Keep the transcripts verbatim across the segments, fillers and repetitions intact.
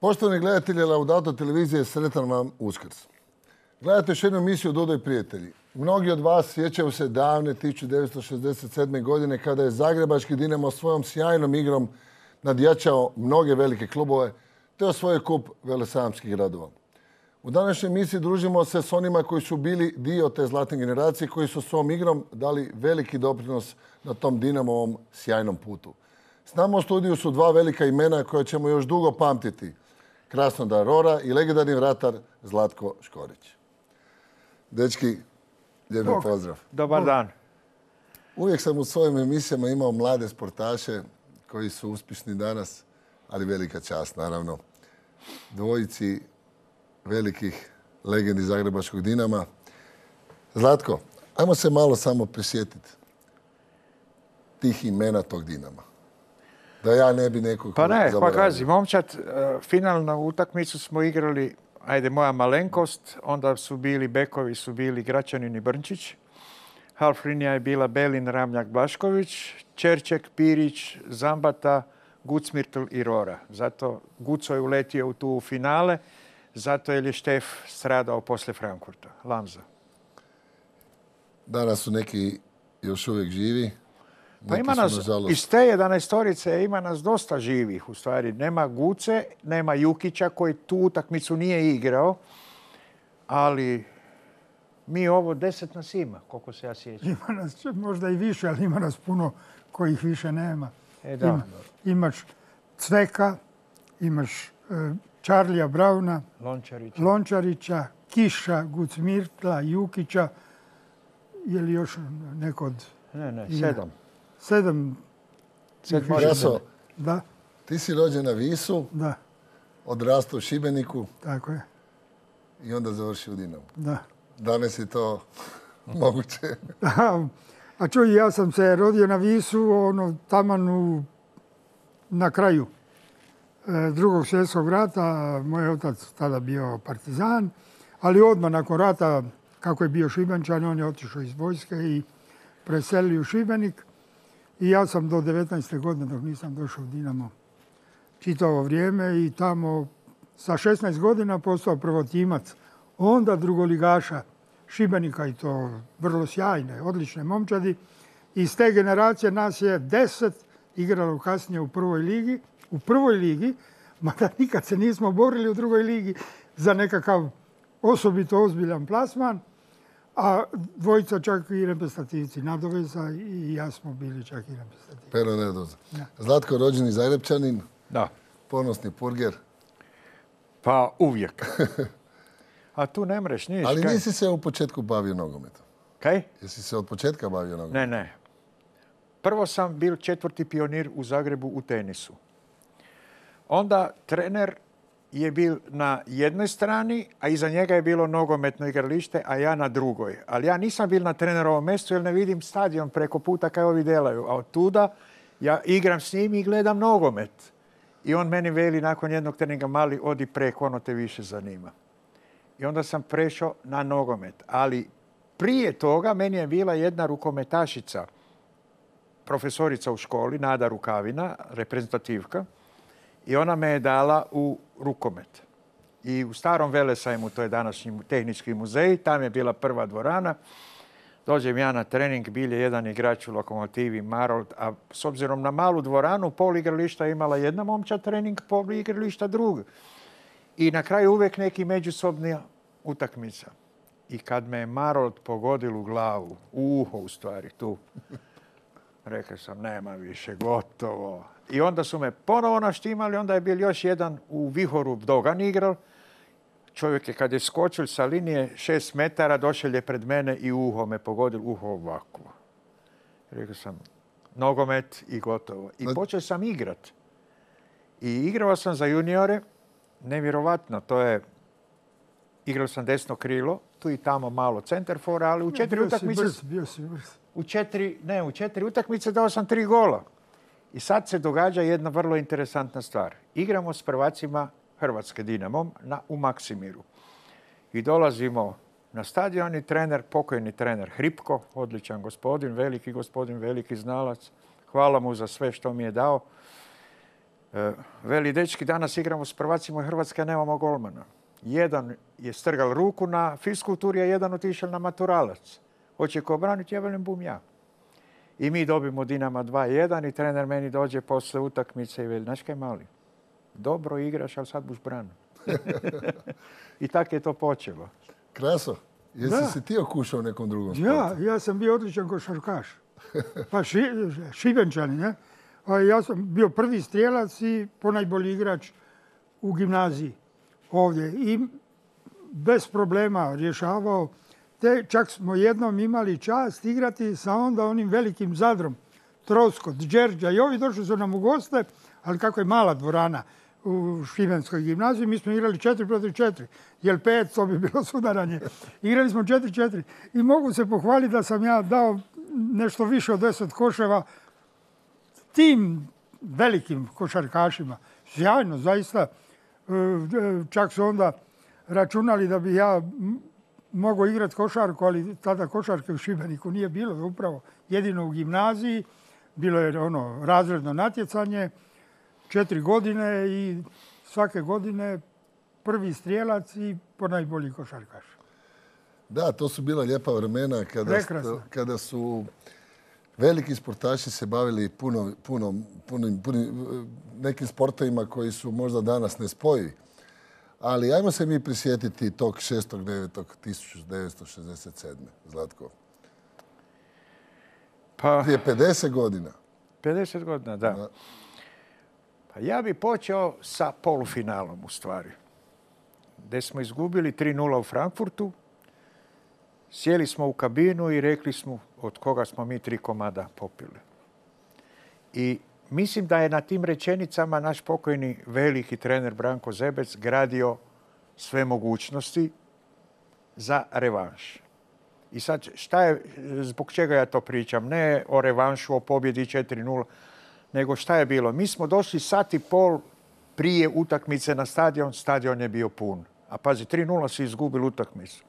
Poštovani gledatelji Laudato televizije, sretan vam Uskrs. Gledate još jednu emisiju Dodo i prijatelji. Mnogi od vas sjećaju se davne tisuću devetsto šezdeset sedme. godine kada je zagrebački Dinamo svojom sjajnom igrom nadjačao mnoge velike klubove te osvojio kup velesajamskih gradova. U današnjoj emisiji družimo se s onima koji su bili dio te zlatne generacije, koji su svom igrom dali veliki doprinos na tom Dinamovom sjajnom putu. S nama u studiju su dva velika imena koja ćemo još dugo pamtiti. Krasnodar Rora i legendarni vratar Zlatko Škorić. Dečki, lijepi pozdrav. Dobar dan. Uvijek sam u svojim emisijama imao mlade sportaše koji su uspješni danas, ali velika čast, naravno. Dvojici velikih legendi zagrebačkog Dinama. Zlatko, ajmo se malo samo prisjetiti tih imena tog Dinama. Da ja ne bi nekog Pa ne, zaboravio. pa kazi, momčad, finalnu utakmicu smo igrali, ajde, moja malenkost, onda su bili bekovi, su bili Gračanin i Brnčić, halflinija je bila Belin, Ramljak, Blašković, Čerček, Pirić, Zambata, Gucmirtl i Rora. Zato Guco je uletio u tu finale, zato je Štef stradao poslije Frankfurta, Lamza. Danas su neki još uvijek živi. Pa ima nas, iz te jedanaestorice ima nas dosta živih u stvari. Nema Guce, nema Jukića koji tu utakmicu nije igrao, ali mi ovo deset nas ima, koliko se ja sjećam. Ima nas možda i više, ali ima nas puno kojih više nema. E, da. Ima, imaš Cveka, imaš uh, Charlija Brauna, Lončarića. Lončarića, Kiša, Gucmirtla, Jukića. Je li još neko od... Ne, ne, sedam. Sedam. Sedam. Jaso, Da, ti si rođen na Visu, da, odrastao u Šibeniku tako je. i onda završio u Dinamu. Da. Danas je to moguće. A, a čuj, ja sam se rodio na Visu, ono, taman u, na kraju e, drugog svjetskog rata. Moj otac tada bio partizan, ali odmah nakon rata, kako je bio Šibenčan, on je otišao iz vojske i preselio u Šibenik. I ja sam do devetnaeste godine, dok nisam došao u Dinamo, čitavo vrijeme i tamo sa šesnaest godina postao prvotimac. Onda drugoligaša Šibenika i to vrlo sjajne, odlične momčadi. Iz te generacije nas je deset igralo kasnije u prvoj ligi. U prvoj ligi, mada nikad se nismo borili u drugoj ligi za nekakav osobito ozbiljan plasman. A dvojica čak i reprezentativci Nadoveza i ja smo bili čak i reprezentativci. Pero Nedoza. Zlatko, rođeni Zagrepčanin, Da. ponosni purger. Pa uvijek. A tu ne mreš niš. Ali kaj? nisi se u početku bavio nogometom. Kaj? Jesi se od početka bavio nogometom? Ne, ne. Prvo sam bil četvrti pionir u Zagrebu u tenisu. Onda trener je bil na jednoj strani, a iza njega je bilo nogometno igralište, a ja na drugoj. Ali ja nisam bil na trenerovom mjestu jer ne vidim stadion preko puta kaj ovi delaju. A od tuda ja igram s njim i gledam nogomet. I on meni veli nakon jednog treninga, mali, odi preko, ono te više zanima. I onda sam prešao na nogomet. Ali prije toga meni je bila jedna rukometašica, profesorica u školi, Nada Rukavina, reprezentativka. I ona me je dala u rukomet. I u starom Velesajmu, to je današnji tehnički muzej, tam je bila prva dvorana. Dođem ja na trening, bil je jedan igrač u Lokomotivi, Marold, a s obzirom na malu dvoranu, pol igrališta je imala jedna momčad trening, pol igrališta druga. I na kraju uvijek neki međusobna utakmica. I kad me je Marold pogodil u glavu, u uho u stvari, tu, rekao sam, nema više, gotovo. I onda su me ponovo naštimali, onda je bil još jedan u Vihoru Dogan igral. Čovjek je kad je skočil sa linije šest metara, došel je pred mene i uho me pogodil, uho ovako. Rekao sam, nogomet i gotovo. I počeo sam igrat. I igrao sam za juniore, nevjerovatno, to je, igrao sam desno krilo, tu i tamo malo centerfora, ali u četiri bio utakmice... Si brz, bio si brz. U četiri, ne, u četiri utakmice dao sam tri gola. I sad se događa jedna vrlo interesantna stvar. Igramo s prvacima Hrvatske Dinamom na, u Maksimiru. I dolazimo na stadion i trener, pokojni trener Hripko, odličan gospodin, veliki gospodin, veliki znalac. Hvala mu za sve što mi je dao. E, veli, dečki, danas igramo s prvacima Hrvatske, nemamo golmana. Jedan je strgal ruku na fiskulturi, a jedan otišao na maturalac. Hoće ko braniti, ja velim, bum ja. I mi dobimo Dinama dva jedan i trener meni dođe posle utakmice i veli, znaš kaj mali, dobro igraš, ali sad buš brano. I tako je to počelo. Kraso, jesi Da. se ti okušao u nekom drugom sportu? Ja, ja sam bio odličan košarkaš. Pa ši, Šibenčani, ne? A ja sam bio prvi strijelac i ponajbolji igrač u gimnaziji ovdje. I bez problema rješavao. Te čak smo jednom imali čast igrati sa onda onim velikim Zadrom. Troskot, Đerđa i ovi došli su nam u goste, ali kako je mala dvorana u Šibenskoj gimnaziji, mi smo igrali četiri protiv četiri. Jer pet, to bi bilo sudaranje. Igrali smo četiri četiri. I mogu se pohvaliti da sam ja dao nešto više od deset koševa tim velikim košarkašima. Sjajno, zaista. Čak su onda računali da bi ja mogao igrati košarku, ali tada košarke u Šibeniku nije bilo, upravo jedino u gimnaziji. Bilo je ono razredno natjecanje, četiri godine i svake godine prvi strijelac i ponajbolji košarkaš. Da, to su bila lijepa vremena kada, kada su veliki sportaši se bavili puno, puno, puno, puno, nekim sportovima koji su možda danas nespojivi. Ali ajmo se mi prisjetiti tog šestog devetog tisuće devetsto šezdeset sedme. Zlatko. Pa, prije pedeset godina. pedeset godina, da. da. Pa ja bi počeo sa polufinalom u stvari. Gdje smo izgubili tri nula u Frankfurtu. Sjeli smo u kabinu i rekli smo od koga smo mi tri komada popili. I mislim da je na tim rečenicama naš pokojni veliki trener Branko Zebec gradio sve mogućnosti za revanš. I sad, šta je, zbog čega ja to pričam? Ne o revanšu, o pobjedi četiri nula, nego šta je bilo? Mi smo došli sat i pol prije utakmice na stadion, stadion je bio pun. A pazi, tri nula su izgubili utakmicu.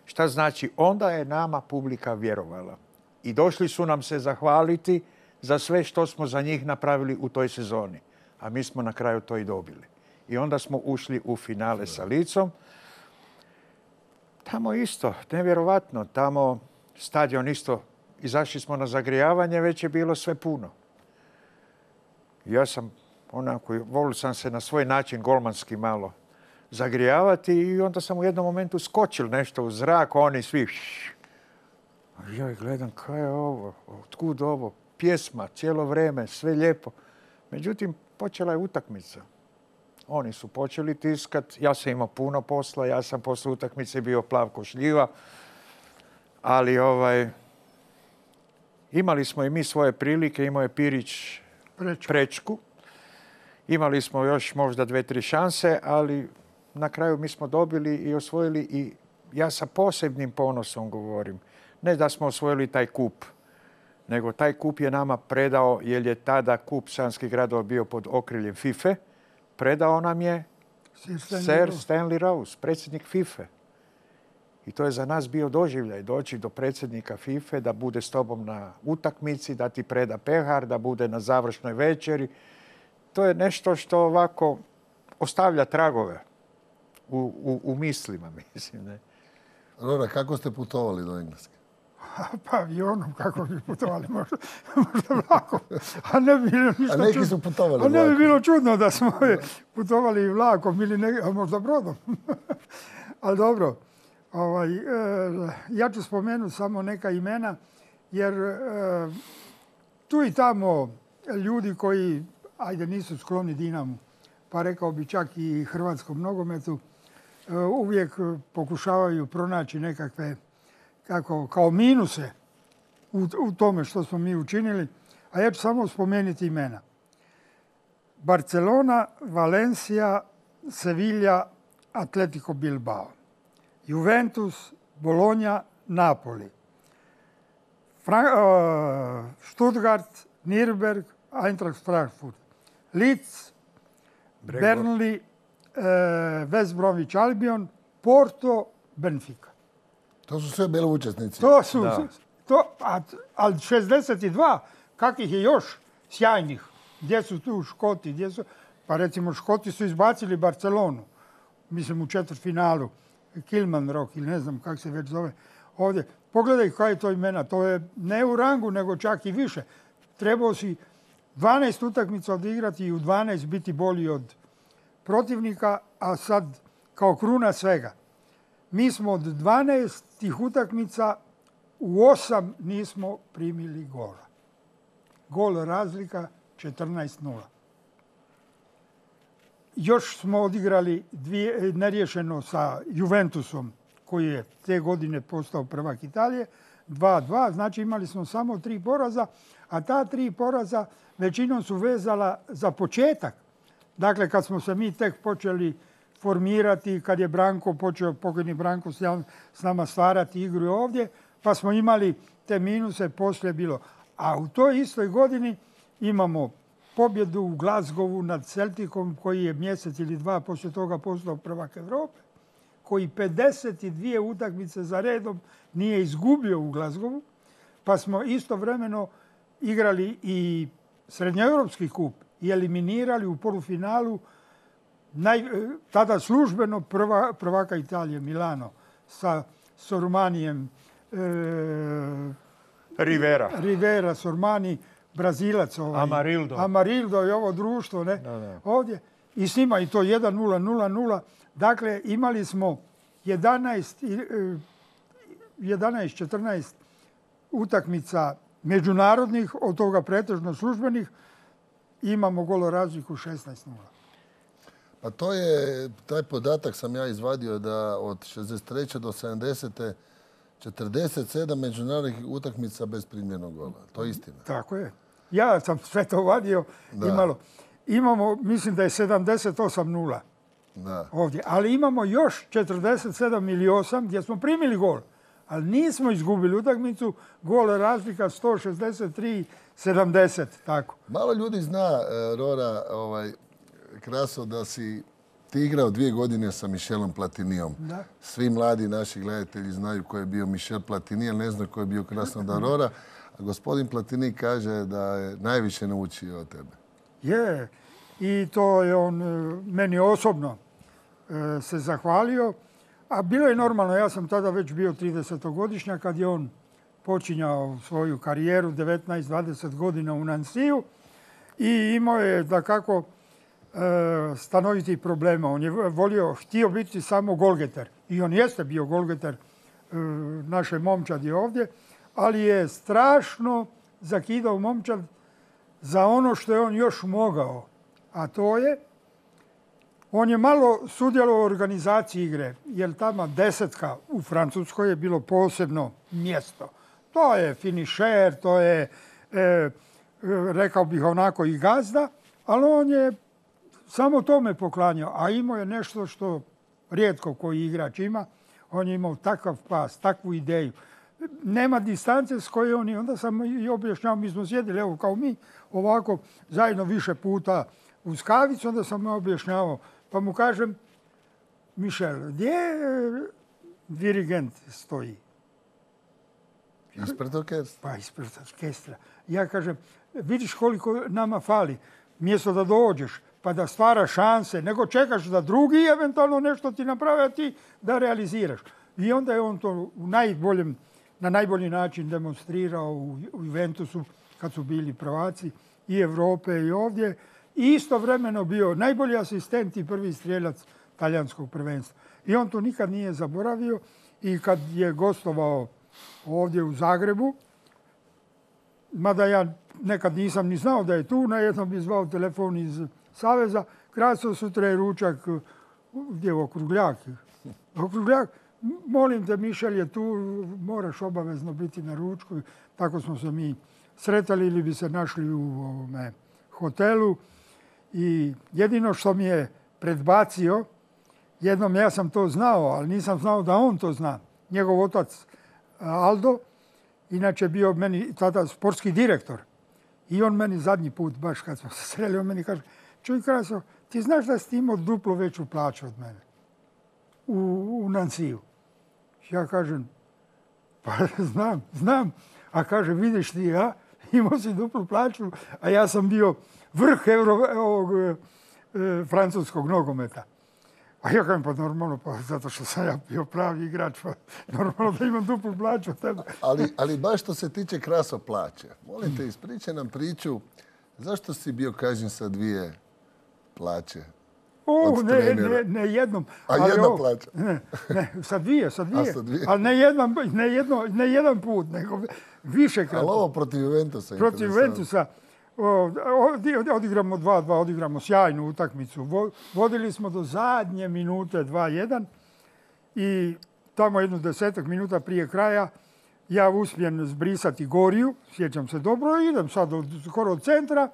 Šta znači? Onda je nama publika vjerovala. I došli su nam se zahvaliti za sve što smo za njih napravili u toj sezoni. A mi smo na kraju to i dobili. I onda smo ušli u finale sa Licom. Tamo isto, nevjerovatno. Tamo stadion isto, izašli smo na zagrijavanje, već je bilo sve puno. Ja sam onako, volio sam se na svoj način golmanski malo zagrijavati i onda sam u jednom momentu skočil nešto u zrak, oni svi... Ja gledam, kaj je ovo, otkud ovo, pjesma, cijelo vrijeme, sve lijepo. Međutim, počela je utakmica. Oni su počeli tiskat, ja sam imao puno posla, ja sam posle utakmice bio plav ko šljiva, ali ovaj, imali smo i mi svoje prilike, imao je Pirić prečku. prečku. Imali smo još možda dve, tri šanse, ali na kraju mi smo dobili i osvojili i ja sa posebnim ponosom govorim. Ne da smo osvojili taj kup, nego taj kup je nama predao, jer je tada kup Sanskih gradova bio pod okriljem FIFA, predao nam je Sir Stanley Rose, predsjednik FIFA. I to je za nas bio doživljaj, doći do predsjednika FIFA, da bude s tobom na utakmici, da ti preda pehar, da bude na završnoj večeri. To je nešto što ovako ostavlja tragove u, u, u mislima, mislim. Ne? Rora, kako ste putovali do Engleske? Pa avionom, kako bi putovali, možda, možda vlakom. A ne bi bilo ništa A neki čudno. su putovali A ne bi vlakom. bilo čudno da smo putovali i vlakom ili ne, a možda brodom. Ali dobro, ovaj, e, ja ću spomenuti samo neka imena, jer e, tu i tamo ljudi koji, ajde, nisu skloni Dinamu, pa rekao bi čak i hrvatskom nogometu, e, uvijek pokušavaju pronaći nekakve kako, kao minuse u, u tome što smo mi učinili. A ja ću samo spomenuti imena. Barcelona, Valencia, Sevilla, Atletico Bilbao. Juventus, Bologna, Napoli. Fra, uh, Stuttgart, Nürnberg, Eintracht Frankfurt. Leeds, Burnley, uh, West Bromwich Albion, Porto, Benfica. To su sve bili učesnici. To su, to, a, ali šezdeset dva, kakvih je još sjajnih Gdje su tu Škoti? Gdje su... Pa recimo Škoti su izbacili Barcelonu. Mislim u četvrtfinalu. Kilmarnock ili ne znam kako se već zove. Ovdje. Pogledaj koja je to imena. To je ne u rangu nego čak i više. Trebao si dvanaest utakmica odigrati i u dvanaest biti bolji od protivnika, a sad kao kruna svega. Mi smo od dvanaest tih utakmica u osam nismo primili gola. Gol razlika četrnaest nula. Još smo odigrali dvije, neriješeno sa Juventusom, koji je te godine postao prvak Italije, dva dva, znači imali smo samo tri poraza, a ta tri poraza većinom su vezala za početak. Dakle, kad smo se mi tek počeli formirati, kad je Branko počeo, pokojni Branko s nama stvarati igru ovdje, pa smo imali te minuse, poslije bilo. A u toj istoj godini imamo pobjedu u Glasgowu nad Celticom, koji je mjesec ili dva poslije toga postao prvak Europe, koji pedeset dvije utakmice za redom nije izgubio u Glasgowu, pa smo istovremeno igrali i srednjoeuropski kup i eliminirali u polufinalu naj, tada službeno prva, prvaka Italije, Milano, sa Sormanijem, e, Rivera. Rivera, Sormani, Brazilac, ovaj, Amarildo. Amarildo i ovo društvo, ne, Da, da. ovdje. I s njima i to jedan nula, nula nula. Dakle, imali smo jedanaest, jedanaest četrnaest utakmica međunarodnih, od toga pretežno službenih. Imamo golorazliku šesnaest nula. Pa to je, taj podatak sam ja izvadio da od šezdeset treće do sedamdesete četrdeset sedam međunarodnih utakmica bez primljenog gola. To je istina. Tako je. Ja sam sve to vadio. Imalo. Imamo, mislim da je sedamdeset osam nula da. Ovdje. Ali imamo još četrdeset sedam ili osam gdje smo primili gol. Ali nismo izgubili utakmicu. Gol razlika sto šezdeset tri sedamdeset. Tako. Malo ljudi zna, Rora, ovaj, Kraso, da si ti igrao dvije godine sa Michelom Platinijom. Da. Svi mladi naši gledatelji znaju ko je bio Michel Platini, ali ne znaju ko je bio Krasnodar Rora. A gospodin Platini kaže da je najviše naučio od tebe. Je. I to je on meni osobno se zahvalio. A bilo je normalno, ja sam tada već bio tridesetogodišnjak kad je on počinjao svoju karijeru, devetnaest dvadeset godina u Nansiju. I imao je, da kako, stanoviti problema. On je volio, htio biti samo golgeter. I on jeste bio golgeter naše momčadi ovdje, ali je strašno zakidao momčad za ono što je on još mogao. A to je, on je malo sudjelovao u organizaciji igre, jer tamo desetka u Francuskoj je bilo posebno mjesto. To je finišer, to je, e, rekao bih onako, i gazda, ali on je samo tome poklanjao, a imao je nešto što rijetko koji igrač ima. On je imao takav pas, takvu ideju. Nema distance s kojoj on je. Onda sam i objašnjao, mi smo sjedili, evo kao mi, ovako zajedno više puta uz kavicu, onda sam mu objašnjavao. Pa mu kažem, Michel, gdje dirigent stoji? Ispred orkestra. Pa ispred orkestra. Ja kažem, vidiš koliko nama fali. Mjesto da dođeš, pa da stvaraš šanse, nego čekaš da drugi eventualno nešto ti naprave, a ti da realiziraš. I onda je on to u najboljem, na najbolji način demonstrirao u Juventusu kad su bili prvaci i Europe i ovdje. I istovremeno bio najbolji asistent i prvi strjelac talijanskog prvenstva. I on to nikad nije zaboravio i kad je gostovao ovdje u Zagrebu, mada ja nekad nisam ni znao da je tu, na jednom bi zvao telefon iz Saveza, Kraso, sutra je ručak, gdje je Okrugljak? Okrugljak, molim te, Mišel je tu, moraš obavezno biti na ručku. Tako smo se mi sretali ili bi se našli u ovome hotelu. I jedino što mi je predbacio, jednom ja sam to znao, ali nisam znao da on to zna. Njegov otac Aldo, inače bio meni tada sportski direktor. I on meni zadnji put, baš kad smo se sreli, on meni kaže, čuj Kraso, ti znaš da si imao duplo veću plaću od mene u, u Nansiju? Ja kažem, pa znam, znam. A kaže, vidiš ti, ja? imao si duplu plaću, a ja sam bio vrh Euro, ovog, e, francuskog nogometa. A ja kažem, pa normalno, pa zato što sam ja bio pravi igrač, pa normalno da imam duplu plaću. ali, ali baš što se tiče Kraso plaće, molim te, ispričaj nam priču, zašto si bio kažnjen sa dvije plaće? O, ne, ne, ne jednom. A jedna plaća? Ne, ne, sa dvije, sa dvije. A sa dvije? Ali ne, jedan, ne, jedno, ne jedan put, nego više krat. Ali ovo protiv Juventusa. Protiv Juventusa. Odigramo dva dva, odigramo sjajnu utakmicu. Vodili smo do zadnje minute dva jedan i tamo jedno desetak minuta prije kraja ja uspijem zbrisati Goriju, sjećam se dobro, idem sad od, skoro od centra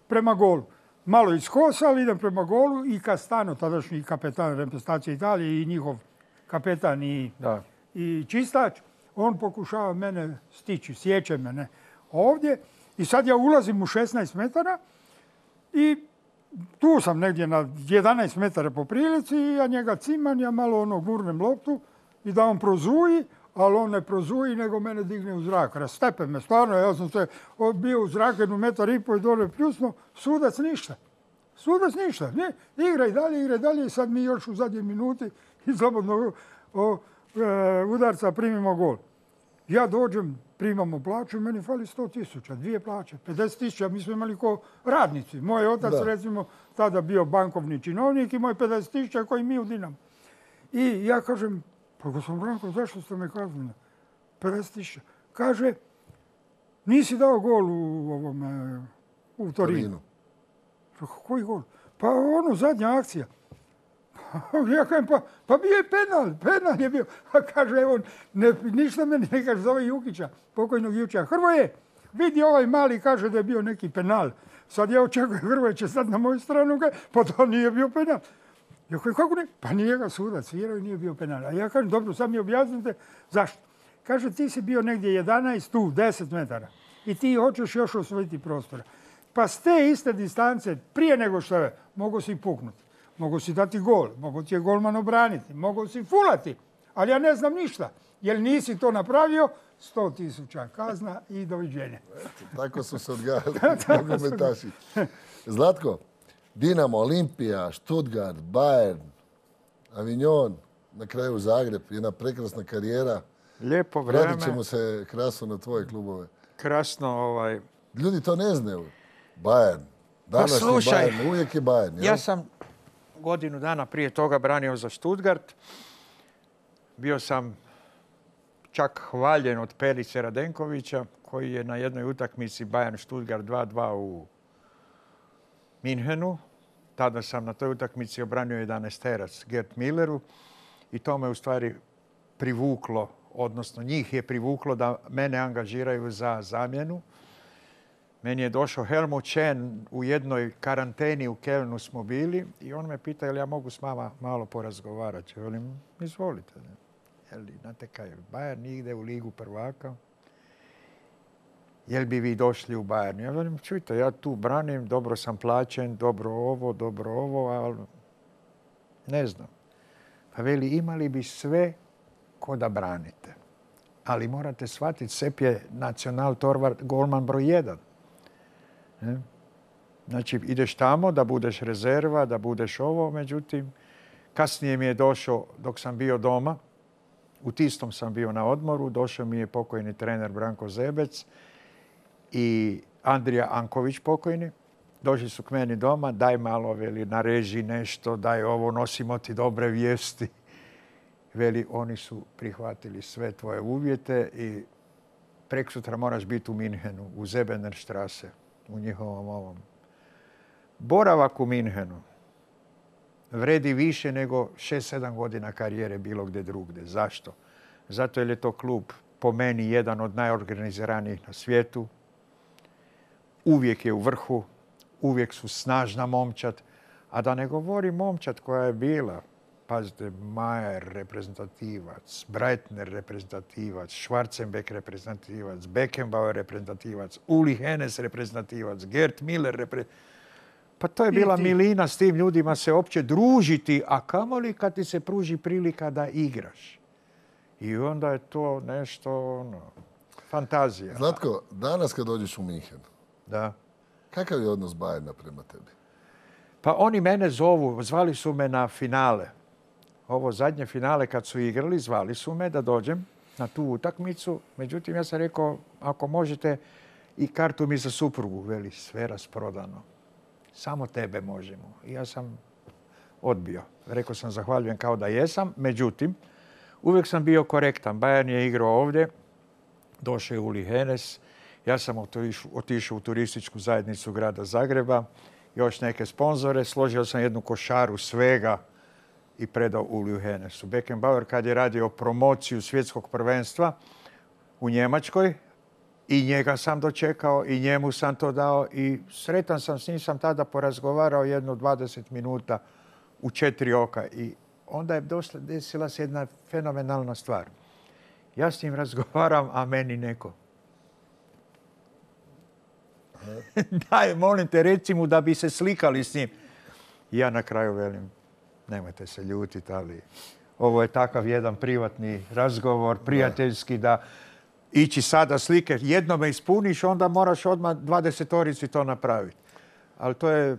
prema golu. Malo iskosali, idem prema golu i Castano, tadašnji kapetan reprezentacije Italije i njihov kapetan i, da. i čistač, on pokušava mene stići, sjeće mene ovdje. I sad ja ulazim u šesnaest metara i tu sam negdje na jedanaest metara po prilici i ja njega cimam, ja malo ono gurnem loptu i da on prozuji, ali on ne prozuji, nego mene digne u zrak. Rastepe me, stvarno, ja sam se bio u zrak jednu metar i po i dole pljusno, sudac ništa. Sudac ništa. Ne, igra i dalje, igra i dalje i sad mi još u zadnjoj minuti iz slobodnog udarca primimo gol. Ja dođem, primamo plaću, meni fali sto tisuća, dvije plaće, pedeset tisuća, mi smo imali ko radnici. Moj otac, da. recimo, tada bio bankovni činovnik i moj pedeset tisuća koji mi u Dinamo. I ja kažem, pa gospodin Branko, zašto ste me kaznili? pedeset tisuća. Kaže, nisi dao gol u, ovome, u Torinu. Koji gol? Pa ono, zadnja akcija. Ja kažem, pa, pa bio je penal, penal je bio. A kaže, evo, ne, ništa meni ne kaže, zove Jukića, pokojnog Jukića. Hrvoje, vidi ovaj mali, kaže da je bio neki penal. Sad ja očekujem, Hrvoje će sad na moju stranu, pa to nije bio penal. Ja kažem, kako ne? Pa nije ga sudac, jer nije bio penal. A ja kažem, dobro, sad mi objasnite zašto. Kaže, ti si bio negdje jedanaest, tu, deset metara. I ti hoćeš još osvojiti prostora. Pa s te iste distance, prije nego što je, mogu si puknuti. Mogu si dati gol, mogu ti je golman obraniti, mogu si fulati, ali ja ne znam ništa. Jer nisi to napravio, sto tisuća kazna i doviđenja. Eto, tako su se odgajali nogometaši. Zlatko, Dinamo, Olimpija, Stuttgart, Bayern, Avignon, na kraju Zagreb, jedna prekrasna karijera. Lijepo vrijeme. Vratit ćemo se krasno na tvoje klubove. Krasno, ovaj... Ljudi to ne znaju. Bayern. Današnji pa slušaj, Bayern, uvijek je Bayern. Jel? Ja sam godinu dana prije toga branio za Stuttgart. Bio sam čak hvaljen od Perice Radenkovića, koji je na jednoj utakmici Bayern Stuttgart dva dva u Minhenu. Tada sam na toj utakmici obranio jedanaesterac Gerd Milleru i to me u stvari privuklo, odnosno njih je privuklo da mene angažiraju za zamjenu. Meni je došao Helmut Chen, u jednoj karanteni u Kelnu smo bili i on me pita jel ja mogu s vama malo porazgovarati. Ja velim, izvolite. Jel, znate kaj, Bayern ide u ligu prvaka. Jel bi vi došli u Bayern? Ja velim, čujte, ja tu branim, dobro sam plaćen, dobro ovo, dobro ovo, ali ne znam. Pa veli, imali bi sve ko da branite. Ali morate shvatiti, Sepp je nacional torvar golman broj jedan. Ne? Znači, ideš tamo da budeš rezerva, da budeš ovo, međutim, kasnije mi je došao, dok sam bio doma, u Tistom sam bio na odmoru, došao mi je pokojni trener Branko Zebec i Andrija Anković pokojni. Došli su k meni doma, daj malo, veli, nareži nešto, daj ovo, nosimo ti dobre vijesti. Veli, oni su prihvatili sve tvoje uvjete i preksutra moraš biti u Minhenu, u Zebenerstrasse, u njihovom ovom. Boravak u Minhenu vredi više nego šest sedam godina karijere bilo gdje drugdje. Zašto? Zato jer je to klub po meni jedan od najorganiziranijih na svijetu. Uvijek je u vrhu, uvijek su snažna momčad. A da ne govori momčad koja je bila, pazite, Mayer reprezentativac, Breitner reprezentativac, Schwarzenbeck reprezentativac, Beckenbauer reprezentativac, Uli Hoeneß reprezentativac, Gerd Miller reprezentativac. Pa to je bila milina s tim ljudima se opće družiti, a kamoli kad ti se pruži prilika da igraš. I onda je to nešto ono, fantazija. Zlatko, danas kad dođeš u Minhen, Da. kakav je odnos Bayerna prema tebi? Pa oni mene zovu, zvali su me na finale. Ovo zadnje finale kad su igrali, zvali su me da dođem na tu utakmicu. Međutim, ja sam rekao, ako možete i kartu mi za suprugu, veli, sve rasprodano. Samo tebe možemo. I ja sam odbio. Rekao sam, zahvaljujem kao da jesam. Međutim, uvijek sam bio korektan. Bayern je igrao ovdje, došao je Uli Hoeneß. Ja sam otišao u turističku zajednicu grada Zagreba, još neke sponzore, složio sam jednu košaru svega i predao Uliju Hoeneßu. Beckenbauer kad je radio promociju svjetskog prvenstva u Njemačkoj, i njega sam dočekao i njemu sam to dao i sretan sam s njim, sam tada porazgovarao jedno dvadeset minuta u četiri oka i onda je došla, desila se jedna fenomenalna stvar. Ja s njim razgovaram, a meni neko. Daj, molim te, reci mu da bi se slikali s njim. I ja na kraju velim, nemojte se ljutiti, ali ovo je takav jedan privatni razgovor, prijateljski, da ići sada slike, jedno me ispuniš, onda moraš odmah dvadesetorici to napraviti. Ali to je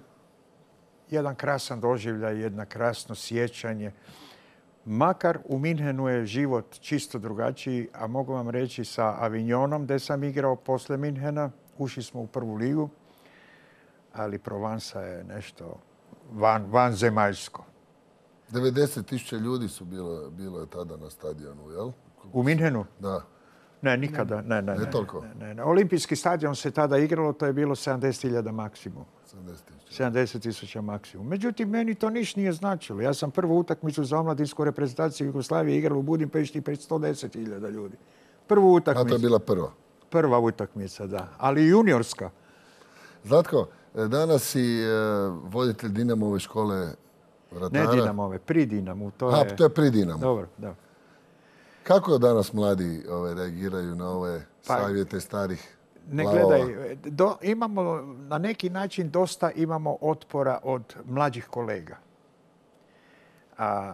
jedan krasan doživljaj, jedno krasno sjećanje. Makar u Minhenu je život čisto drugačiji, a mogu vam reći sa Avignonom, gdje sam igrao posle Minhena, ušli smo u prvu ligu, ali Provansa je nešto van, vanzemaljsko. devedeset tisuća ljudi su bilo, bilo je tada na stadionu, jel? U Minhenu? Da. Ne, nikada. Ne, ne, ne, toliko? Ne, ne, ne. Olimpijski stadion se tada igralo, to je bilo sedamdeset hiljada maksimum. sedamdeset tisuća maksimum. Međutim, meni to niš nije značilo. Ja sam prvu utakmicu za omladinsku reprezentaciju Jugoslavije igrao u Budimpešti pred sto deset hiljada ljudi. Prvu utakmicu. A to je bila prva? Prva utakmica, da. Ali juniorska. Zlatko, danas si voditelj Dinamove škole vratara. Ne Dinamove, pri Dinamu. To A, je... to je pri Dinamu. Dobro, da. Kako danas mladi ove, reagiraju na ove pa, savjete starih ne glavova? Gledaj, do, imamo, na neki način dosta imamo otpora od mlađih kolega. A,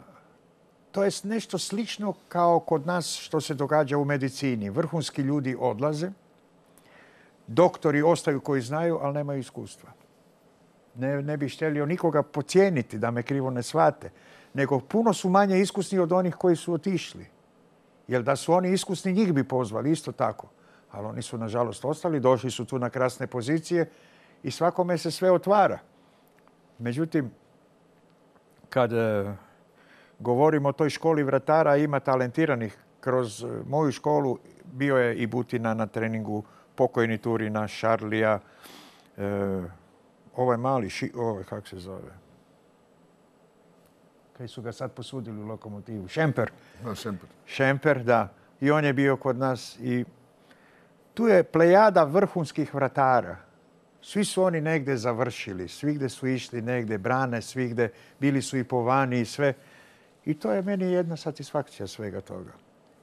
to je nešto slično kao kod nas što se događa u medicini. Vrhunski ljudi odlaze, doktori ostaju koji znaju, ali nemaju iskustva. Ne, ne bih htjelio nikoga pocijeniti, da me krivo ne shvate, nego puno su manje iskusni od onih koji su otišli. Jer da su oni iskusni, njih bi pozvali, isto tako. Ali oni su, nažalost, ostali, došli su tu na krasne pozicije i svakome se sve otvara. Međutim, kad e, govorimo o toj školi vratara, ima talentiranih. Kroz moju školu bio je i Butina na treningu, pokojni Turina, Šarlija, e, ovaj mali, ši, ovaj, kako se zove? Kaj su ga sad posudili u Lokomotivu? Šemper. No, Šemper. Šemper, da. I on je bio kod nas. I tu je plejada vrhunskih vratara. Svi su oni negdje završili. Svigdje su išli negdje, brane svigdje. Bili su i po vani i sve. I to je meni jedna satisfakcija svega toga.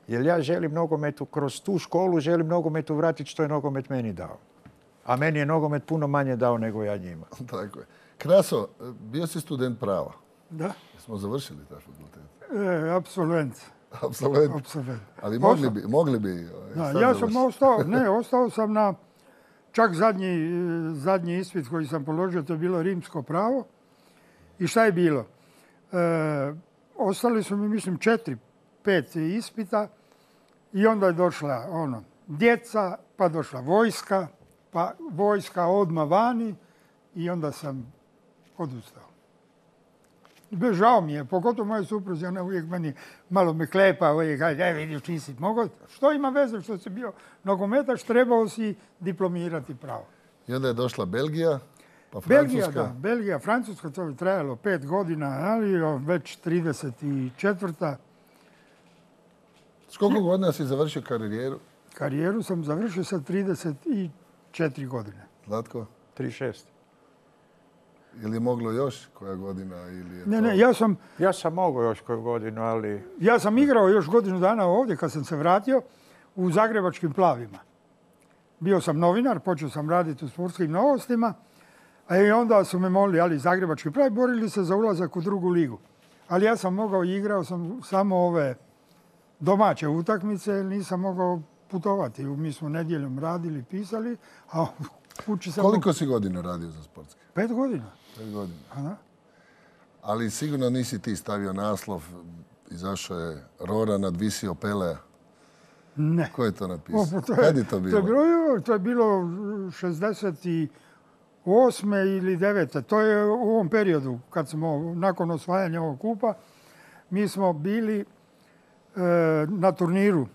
Jer ja želim nogometu, kroz tu školu želim nogometu vratiti što je nogomet meni dao. A meni je nogomet puno manje dao nego ja njima. Tako je. Kraso, bio si student prava. Da. Smo završili taj fakultet. E, absolvent. Absolvent. Absolvent. Ali mogli bi, mogli bi da, ja sam ostao, ne, ostao sam na čak zadnji, zadnji ispit koji sam položio, to je bilo rimsko pravo. I šta je bilo? E, ostali su mi, mislim, četiri, pet ispita i onda je došla ono, djeca, pa došla vojska, pa vojska odmah vani i onda sam odustao. Žao mi je, pogotovo moja supruzi, ona uvijek meni malo me klepa, uvijek kaže, aj vidiš, nisi mogao. Što ima veze što si bio nogometaš, trebao si diplomirati pravo. I onda je došla Belgija, pa Francuska. Belgija, da, Belgija, Francuska, to je trajalo pet godina, ali već trideset četvrta. S koliko godina si završio karijeru? Karijeru sam završio sa trideset četiri godine. Zlatko? trideset šest. Ili je moglo još koja godina? Ili je ne, to... ne, ja sam... Ja sam mogao još koju godinu, ali... Ja sam igrao još godinu dana ovdje kad sam se vratio u Zagrebačkim Plavima. Bio sam novinar, počeo sam raditi u sportskim novostima, a i onda su me molili, ali Zagrebački Plavi, borili se za ulazak u drugu ligu. Ali ja sam mogao i igrao sam samo ove domaće utakmice, jer nisam mogao putovati. Mi smo nedjeljom radili, pisali, a kući sam... Koliko si godina radio za Sportski? Pet godina. Pet godina. A da? Ali sigurno nisi ti stavio naslov, izašao je Rora, nadvisio Pelea. Ne. Ko je to napisao? O, to je, Kad je to bilo? To je bilo, to je bilo šezdeset osme ili devete. To je u ovom periodu, kad smo, nakon osvajanja ovog kupa, mi smo bili e, na turniru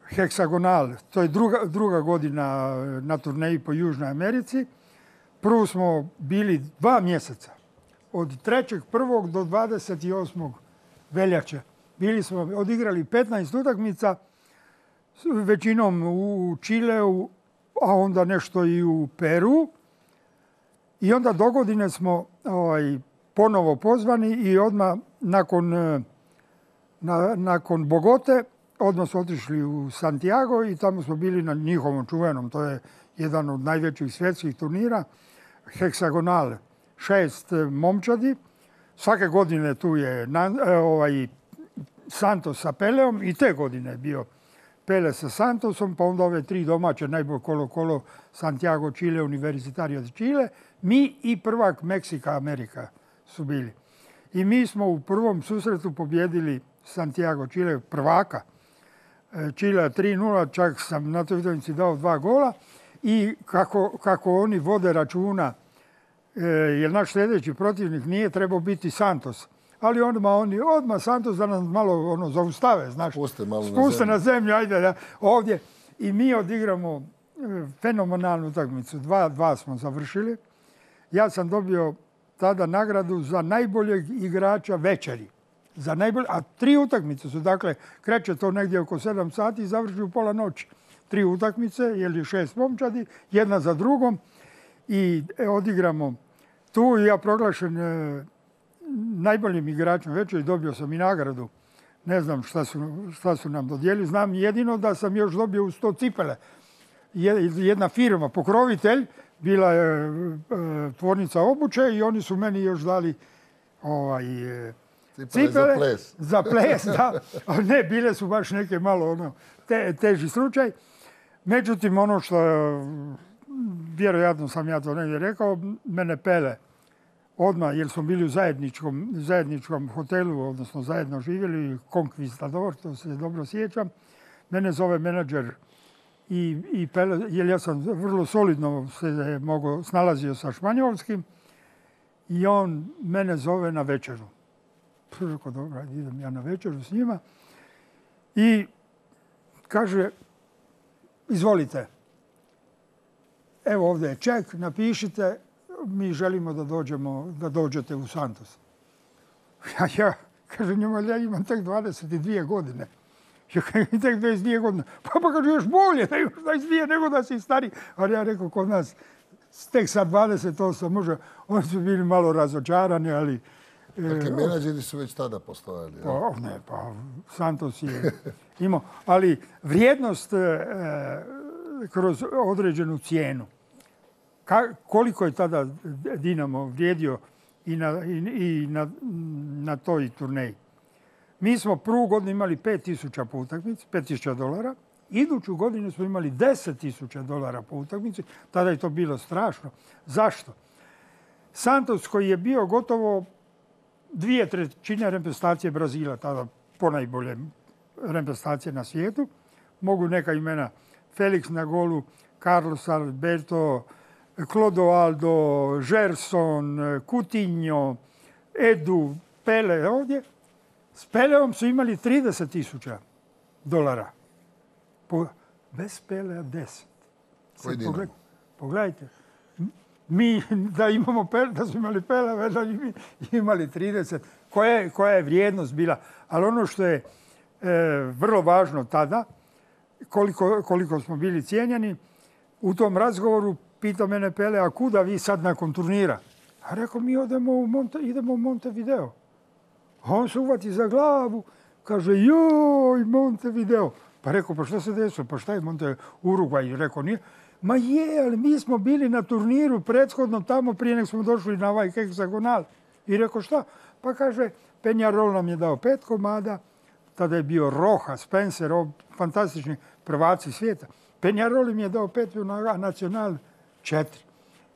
Heksagonal. To je druga, druga godina na turneji po Južnoj Americi. Prvo smo bili dva mjeseca. Od trećeg prvog do dvadeset osmog veljače. Bili smo, odigrali petnaest utakmica, većinom u Čileu, a onda nešto i u Peru. I onda dogodine smo ovaj, ponovo pozvani i odmah nakon, na, nakon Bogote odmah smo otišli u Santiago i tamo smo bili na njihovom čuvenom. To je jedan od najvećih svjetskih turnira. Heksagonal, šest momčadi. Svake godine tu je ovaj, Santos sa Peleom i te godine je bio Pele sa Santosom, pa onda ove tri domaće, najbolj kolo-kolo, Santiago, Čile, Universitario de Chile. Mi i prvak Meksika, Amerika su bili. I mi smo u prvom susretu pobjedili Santiago, Čile, prvaka. Čile tri nula, čak sam na toj utakmici dao dva gola. I kako, kako oni vode računa, jer naš sljedeći protivnik nije trebao biti Santos. Ali odmah oni, odmah Santos da nas malo ono, zaustave, znaš. Spuste malo Spuste na zemlju. na zemlju, ajde da, ovdje. I mi odigramo fenomenalnu utakmicu. Dva, dva smo završili. Ja sam dobio tada nagradu za najboljeg igrača večeri. Za najbolje, a tri utakmice su, dakle, kreće to negdje oko sedam sati i završi u pola noći. Tri utakmice, jer je šest momčadi, jedna za drugom. I odigramo tu i ja proglašen e, najboljim igračem večeri, dobio sam i nagradu. Ne znam šta su, šta su nam dodijelili. Znam jedino da sam još dobio u sto cipele. Jedna firma, pokrovitelj, bila je e, tvornica obuće i oni su meni još dali ovaj, e, cipele, cipele za ples. Za ples, da. Ali ne, bile su baš neke malo ono, te, teži slučaj. Međutim, ono što, vjerojatno sam ja to negdje rekao, mene Pele odmah, jer smo bili u zajedničkom, zajedničkom hotelu, odnosno zajedno živjeli, Conquistador, to se dobro sjećam. Mene zove menadžer i, i Pele, jer ja sam vrlo solidno se mogo, snalazio sa španjolskim i on mene zove na večeru. Rekao, dobro, idem ja na večeru s njima i kaže, izvolite, evo ovdje je ček, napišite, mi želimo da dođemo, da dođete u Santos. Ja, ja kažem njemu, ja imam tek dvadeset dvije godine. Ja kažem, tek dvadeset dvije godine. Pa pa kaže, još bolje da još dvadeset dvije nego da si stari. Ali ja rekao, kod nas tek sa dvadeset osam može, oni su bili malo razočarani, ali... Dakle, menadžeri su već tada postojali. Ja? Pa, ne, pa Santos je imao. Ali vrijednost e, kroz određenu cijenu. Ka, koliko je tada Dinamo vrijedio i na, i, i na, na toj turneji. Mi smo prvu godinu imali pet tisuća po utakmici, pet tisuća dolara. Iduću godinu smo imali deset tisuća dolara po utakmici. Tada je to bilo strašno. Zašto? Santos koji je bio gotovo dvije trećine reprezentacije Brazila, tada ponajbolje reprezentacije na svijetu. Mogu neka imena Felix na golu, Carlos Alberto, Clodoaldo, Gerson, Coutinho, Edu, Pele ovdje. S Peleom su imali trideset tisuća dolara. Po, bez Pelea deset. Pogled, pogledajte. Mi da imamo Pele, da su imali Pele, da mi imali trideset. Koja je, koja je vrijednost bila? Ali ono što je e, vrlo važno tada, koliko, koliko smo bili cijenjeni, u tom razgovoru pitao mene Pele, a kuda vi sad nakon turnira? A rekao, mi odemo u Monte, idemo u Montevideo. A on se uvati za glavu, kaže, joj, Montevideo. Pa rekao, pa što se desilo? Pa šta je Monte Urugvaj? Rekao, nije. Ma je, ali mi smo bili na turniru prethodno tamo prije nek smo došli na ovaj heksagonal. I rekao, šta? Pa kaže, Peñarol nam je dao pet komada, tada je bio Roha, Spencer, o, fantastični prvaci svijeta. Penjaroli mi je dao petlju na Nacional četiri.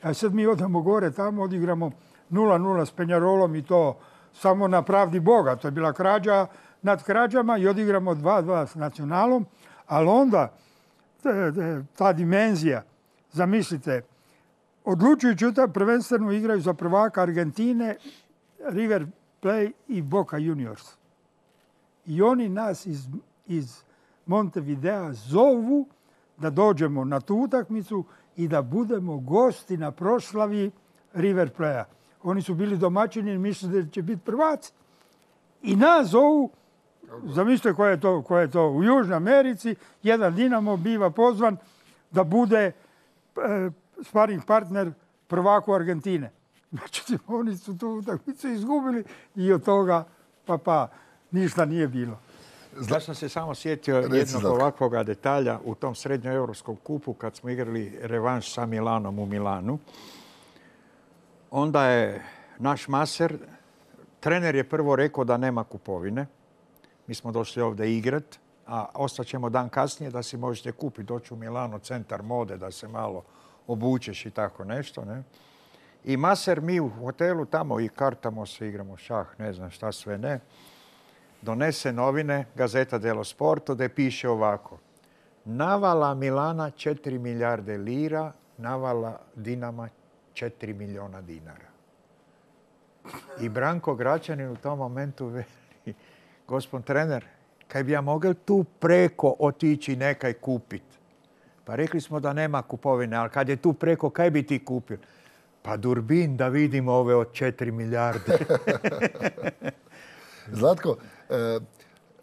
A sad mi odemo gore, tamo odigramo nula nula s Penjarolom i to samo na pravdi Boga. To je bila krađa nad krađama i odigramo dva dva s Nacionalom. Ali onda ta dimenzija, zamislite, odlučujući ta prvenstveno igraju za prvaka Argentine, River Plate i Boca Juniors. I oni nas iz, iz Montevidea zovu da dođemo na tu utakmicu i da budemo gosti na proslavi River Plate-a. Oni su bili domaćini i mislili da će biti prvaci. I nas zovu, zamislite koja je to, koja je to u Južnoj Americi, jedan Dinamo biva pozvan da bude e, sparing partner prvaku Argentine. Znači, oni su tu utakmicu izgubili i od toga pa pa ništa nije bilo. Ja sam se samo sjetio jednog ovakvog detalja u tom srednjoeuropskom kupu kad smo igrali revanš sa Milanom u Milanu. Onda je naš maser, trener je prvo rekao da nema kupovine. Mi smo došli ovdje igrat, a ostaćemo dan kasnije da si možete kupiti, doći u Milano, centar mode, da se malo obučeš i tako nešto. Ne? I maser, mi u hotelu tamo i kartamo se, igramo šah, ne znam šta sve ne. Donese novine, Gazeta dello Sporto, da piše ovako. Navala Milana četiri milijarde lira, navala Dinama četiri milijuna dinara. I Branko Gračanin u tom momentu veli, gospod trener, kaj bi ja mogel tu preko otići nekaj kupiti? Pa rekli smo da nema kupovine, ali kad je tu preko, kaj bi ti kupio? Pa Durbin, da vidimo ove od četiri milijarde. Zlatko,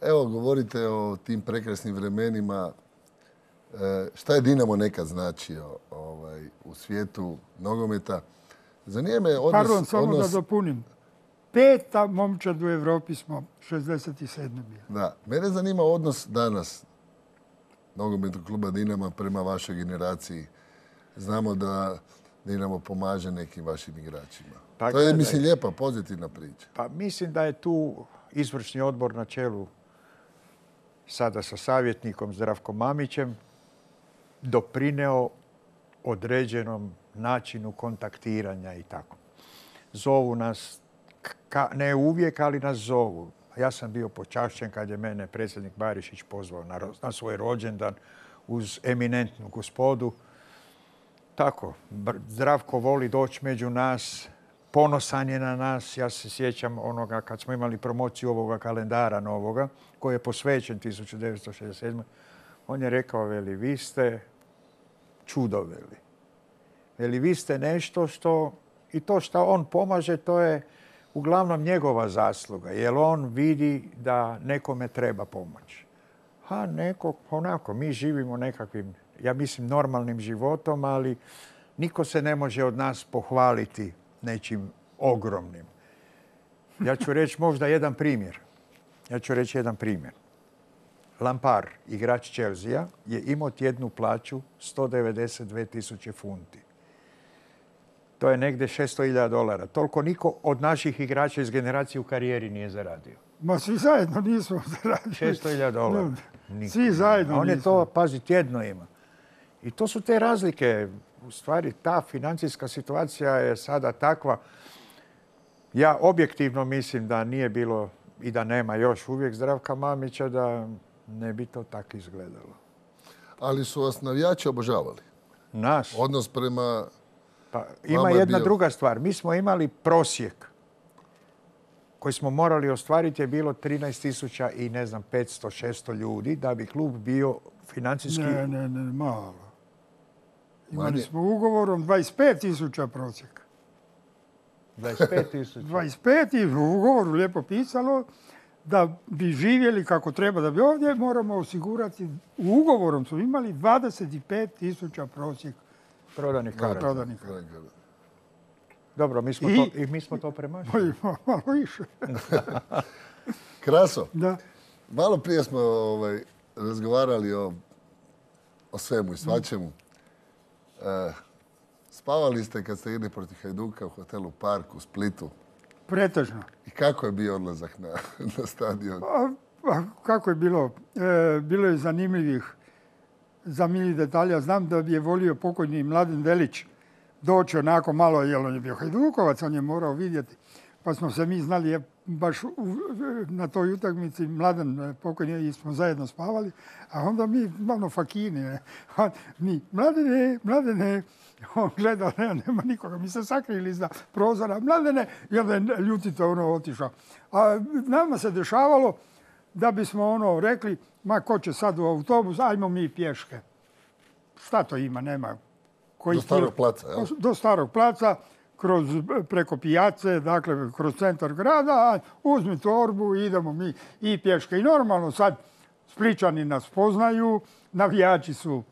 evo govorite o tim prekrasnim vremenima. Šta je Dinamo nekad značio ovaj, u svijetu nogometa? Zanima me odnos... Pardon, samo odnos... da dopunim. Peta momčad u Evropi smo šezdeset sedme bili. Da, mene zanima odnos danas nogometnog kluba Dinama prema vašoj generaciji. Znamo da Dinamo pomaže nekim vašim igračima. Pa, to je, gledaj, mislim, lijepa, pozitivna priča. Pa mislim da je tu izvršni odbor na čelu sada sa savjetnikom Zdravkom Mamićem doprineo određenom načinu kontaktiranja i tako. Zovu nas, ka, ne uvijek, ali nas zovu. Ja sam bio počašćen kad je mene predsjednik Barišić pozvao na, na svoj rođendan uz eminentnu gospodu. Tako, Zdravko voli doći među nas, ponosan je na nas. Ja se sjećam onoga kad smo imali promociju ovoga kalendara novoga, koji je posvećen tisuću devetsto šezdeset sedme. On je rekao, veli, vi ste čudo, veli. Veli, vi ste nešto što, i to što on pomaže, to je uglavnom njegova zasluga, jer on vidi da nekome treba pomoć. A neko, onako, mi živimo nekakvim, ja mislim, normalnim životom, ali niko se ne može od nas pohvaliti nečim ogromnim. Ja ću reći možda jedan primjer. Ja ću reći jedan primjer. Lampard, igrač Chelsea, je imao tjednu plaću sto devedeset dvije tisuće funti. To je negdje šesto hiljada dolara. Toliko niko od naših igrača iz generacije u karijeri nije zaradio. Ma svi zajedno nismo zaradili. šesto hiljada dolara. Niko. Svi zajedno On je nismo. to, pazi, tjedno ima. I to su te razlike. U stvari, ta financijska situacija je sada takva. Ja objektivno mislim da nije bilo i da nema još uvijek Zdravka Mamića, da ne bi to tako izgledalo. Ali su vas navijači obožavali? Nas? Odnos prema... Pa ima jedna bio... druga stvar. Mi smo imali prosjek koji smo morali ostvariti, je bilo trinaest tisuća i ne znam, petsto šesto ljudi da bi klub bio financijski... Ne, ne, ne, malo. Imali smo ugovorom dvadeset pet tisuća prosjeka. dvadeset pet tisuća? dvadeset pet i u ugovoru lijepo pisalo da bi živjeli kako treba da bi ovdje moramo osigurati, u ugovorom su imali dvadeset pet tisuća prosjek prodanih karata. Prodanih karata. Dobro, mi smo, I, to, i mi smo to premašili. Malo više. Kraso, da. Malo prije smo ovaj, razgovarali o, o svemu i svačemu. E, spavali ste kad ste idli protiv Hajduka u hotelu Park u Splitu. Pretežno. I kako je bio odlazak na, na stadion? Pa, pa kako je bilo? E, bilo je zanimljivih, zanimljivih detalja. Znam da bi je volio pokojni Mladen Delić doći onako malo, jer on je bio Hajdukovac, on je morao vidjeti. Pa smo se mi znali, je, baš u, na toj utakmici Mladen pokojni i smo zajedno spavali, a onda mi malo fakini, ne. Mi, Mladene, Mladene, on gleda, ne, nema nikoga, mi se sakrili iza prozora, Mladene, i onda je ljutito ono otišao. A nama se dešavalo da bismo ono rekli, ma ko će sad u autobus, ajmo mi pješke. Šta to ima, nema. Koji do starog placa, jel? Do starog placa, kroz, preko pijace, dakle kroz centar grada, uzmi torbu i idemo mi i pješke. I normalno sad Spličani nas poznaju, navijači su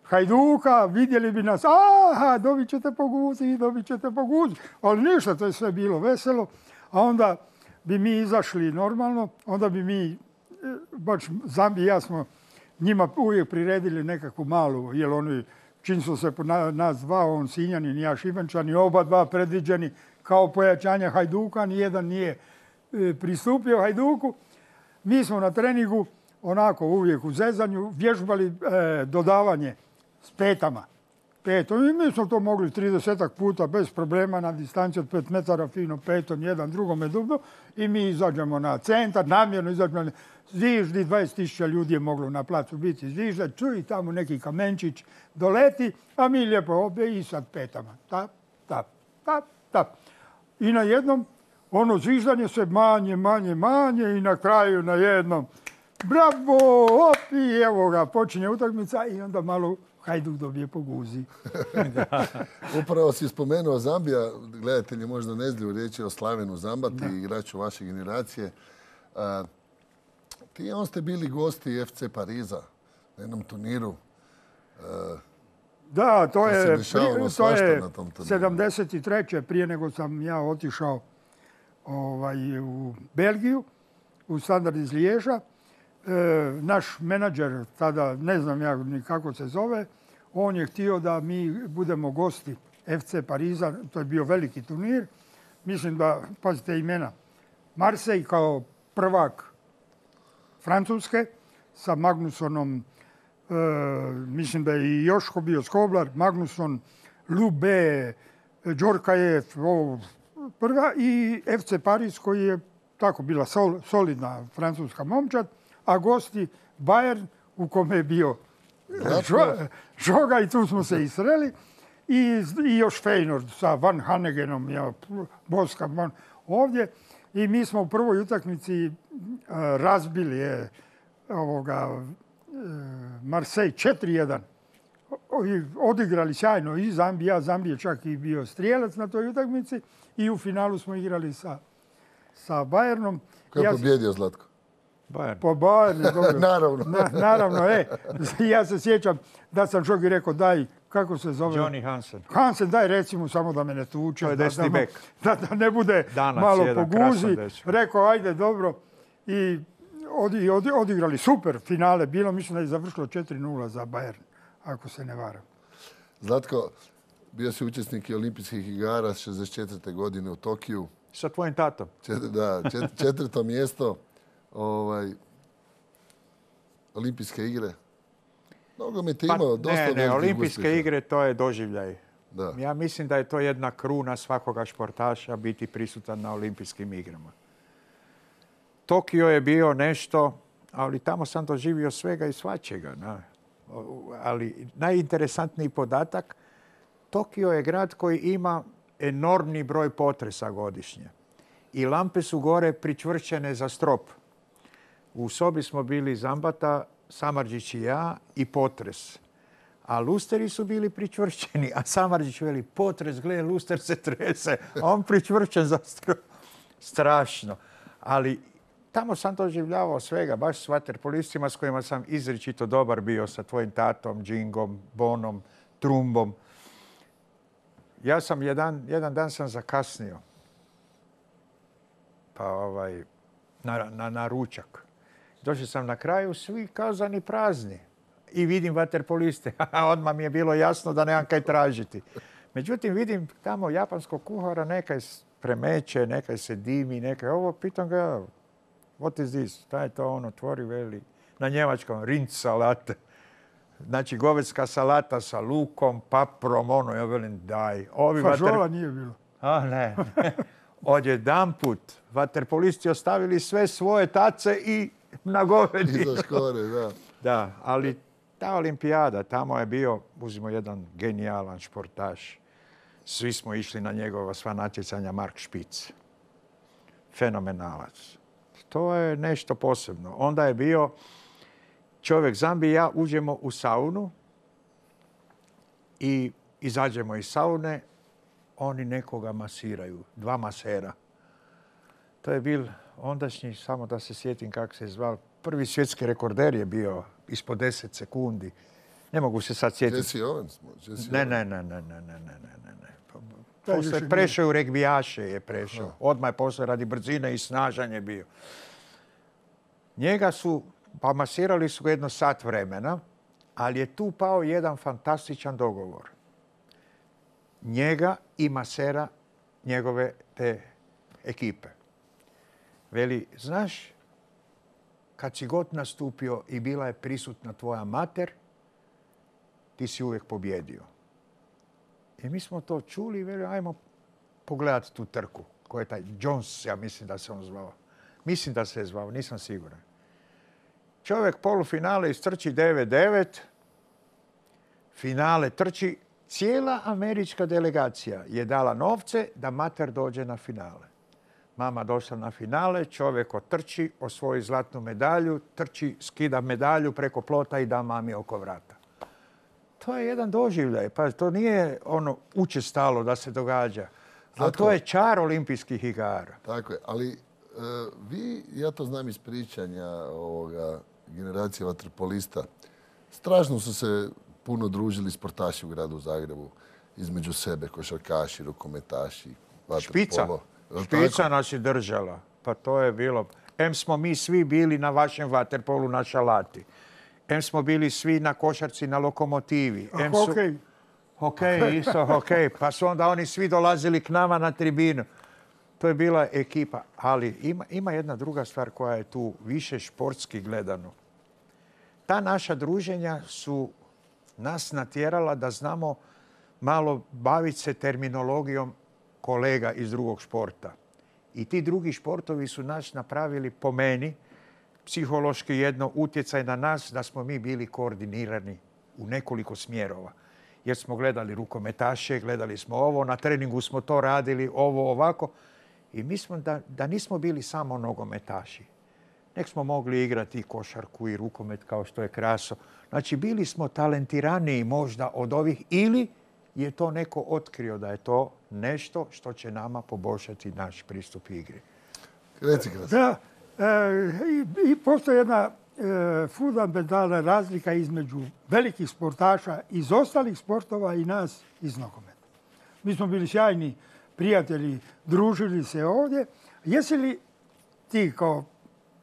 Hajduka, vidjeli bi nas, aha, dobit ćete po guzi, dobit ćete po guzi. Ali ništa, to je sve bilo veselo. A onda bi mi izašli normalno, onda bi mi, baš Zambi i ja smo njima uvijek priredili nekakvu malu, jer oni, čim su se nas dva, on Sinjanin i ja Šibenčani, oba dva predviđeni kao pojačanja Hajduka, nijedan nije pristupio Hajduku. Mi smo na treningu, onako uvijek u zezanju, vježbali e, dodavanje s petama. Petom. I mi smo to mogli tridesetak puta bez problema na distanci od pet metara fino petom, jedan drugome dubno. I mi izađemo na centar, namjerno izađemo na zviždi, dvadeset tisuća ljudi je moglo na placu biti zvižda, čuj tamo neki kamenčić doleti, a mi lijepo obje i sad petama. Tap, tap, tap, tap. I na jednom ono zviždanje se manje, manje, manje i na kraju na jednom bravo, op, i evo ga, počinje utakmica i onda malo Hajduk dobije po guzi. Upravo si spomenuo Zambija, gledatelji možda ne znaju, riječ je o Slavenu Zambati, igraču vaše generacije. A, ti on ste bili gosti F C Pariza na jednom turniru. A, da, to je, to je sedamdeset treće prije nego sam ja otišao ovaj, u Belgiju, u Standard iz Liježa. E, naš menadžer, tada ne znam ja ni kako se zove, on je htio da mi budemo gosti F C Pariza, to je bio veliki turnir. Mislim da, pazite imena, Marseille kao prvak Francuske sa Magnusonom, e, mislim da je i Joško bio Skoblar, Magnuson, Lube, Džorkajev, prva i F C Paris koji je tako bila sol, solidna francuska momčad, a gosti Bayern u kome je bio Žoga i tu smo se isreli. I, i još Feyenoord sa Van Hanegenom, ja, Boska Van, ovdje. I mi smo u prvoj utakmici uh, razbili je, ovoga, uh, Marseille četiri jedan. Odigrali sjajno i Zambija. Zambija čak i bio strijelac na toj utakmici. I u finalu smo igrali sa, sa Bayernom. Ko je ja pobjedio, Zlatko? Bayern. Po Bayern, dobro. Naravno. Na, naravno, e. Ja se sjećam da sam Žogi rekao, daj, kako se zove? Johnny Hansen. Hansen, daj recimo samo da me ne tuče. To je desni da, bek. Da, da ne bude Danac, malo jedan, po guzi. krasan Rekao, ajde, dobro. I odi, odi, odigrali super finale. Bilo, mislim da je završilo četiri nula za Bayern, ako se ne varam. Zlatko, bio si učesnik i olimpijskih igara šezdeset četvrte godine u Tokiju. Sa tvojim tatom. Čet, da, čet, četvrto mjesto. Ovaj, olimpijske igre. Nogomet je Pa, imao dosta ne, ne, velikih olimpijske uspjeha. igre to je doživljaj. Da. Ja mislim da je to jedna kruna svakoga športaša biti prisutan na olimpijskim igrama. Tokio je bio nešto, ali tamo sam doživio svega i svačega. Na. Ali najinteresantniji podatak, Tokio je grad koji ima enormni broj potresa godišnje. I lampe su gore pričvršćene za strop. U sobi smo bili Zambata, Samardžić i ja i potres. A lusteri su bili pričvršćeni, a Samardžić veli, potres, gle, luster se trese, a on pričvršćen za strop. Strašno. Ali tamo sam doživljavao svega, baš s vaterpolistima s kojima sam izričito dobar bio, sa tvojim tatom, Džingom, Bonom, Trumbom. Ja sam jedan, jedan dan sam zakasnio. Pa ovaj, na, na, na ručak. Došao sam na kraju, svi kazani prazni. I vidim vaterpoliste. Odmah mi je bilo jasno da nemam kaj tražiti. Međutim, vidim tamo japanskog kuhara, nekaj premeće, nekaj se dimi, nekaj ovo. Pitam ga, what is this? Šta je to? On otvori, veli, na njemačkom, rinc salate. Znači, govedska salata sa lukom, paprom, ono, ja velim, daj. Ovi Fažola vater... nije bilo. A, ne. Odjedanput, vaterpolisti ostavili sve svoje tace i na govedi. Iza škore, da. Da, ali ta olimpijada, tamo je bio, uzimo jedan genijalan športaš. Svi smo išli na njegova sva natjecanja, Mark Špic. Fenomenalac. To je nešto posebno. Onda je bio čovjek Zambi i ja uđemo u saunu i izađemo iz saune, oni nekoga masiraju, dva masera. To je bil ondašnji, samo da se sjetim kako se zvao, prvi svjetski rekorder je bio ispod deset sekundi. Ne mogu se sad sjetiti. Jesse Owens. Jesse Ne, Owens. ne, ne, ne, ne, ne, ne, ne, ne. Taj Posle više prešao u regbijaše je prešao. Odmah je posle radi brzine i snažan je bio. Njega su, pa masirali su ga jedno sat vremena, ali je tu pao jedan fantastičan dogovor. Njega i masera njegove te ekipe. Veli, znaš, kad si god nastupio i bila je prisutna tvoja mater, ti si uvijek pobjedio. I mi smo to čuli i veli, ajmo pogledati tu trku. Ko je taj Jones, ja mislim da se on zvao. Mislim da se je zvao, nisam siguran. Čovjek polufinale istrči devet devet, finale trči. Cijela američka delegacija je dala novce da mater dođe na finale. Mama došla na finale, čovjek otrči, osvoji zlatnu medalju, trči, skida medalju preko plota i da mami oko vrata. To je jedan doživljaj. Pa to nije ono učestalo da se događa. Ali to je čar olimpijskih igara. Tako je, ali e, vi, ja to znam iz pričanja ovoga, generacije vaterpolista, strašno su se puno družili sportaši u gradu Zagrebu između sebe, košarkaši, rukometaši, Špica. vaterpolo. Špica nas je držala. Pa to je bilo. Em smo mi svi bili na vašem vaterpolu na šalati. Em smo bili svi na košarci na lokomotivi. A Em su... hokej? Hokej, isto hokej. Pa su onda oni svi dolazili k nama na tribinu. To je bila ekipa. Ali ima, ima jedna druga stvar koja je tu više športski gledano. Ta naša druženja su nas natjerala da znamo malo baviti se terminologijom kolega iz drugog športa. I ti drugi športovi su nas napravili, po meni, psihološki jedno utjecaj na nas da smo mi bili koordinirani u nekoliko smjerova. Jer smo gledali rukometaše, gledali smo ovo, na treningu smo to radili, ovo, ovako. I mi smo da, da nismo bili samo nogometaši. Nek smo mogli igrati i košarku i rukomet kao što je Kraso. Znači, bili smo talentiraniji možda od ovih ili je to neko otkrio da je to nešto što će nama poboljšati naš pristup igri. Reci, Kraso. Da, e, i, i postoji jedna e, fundamentalna razlika između velikih sportaša iz ostalih sportova i nas iz nogometa. Mi smo bili sjajni prijatelji, družili se ovdje. Jesi li ti kao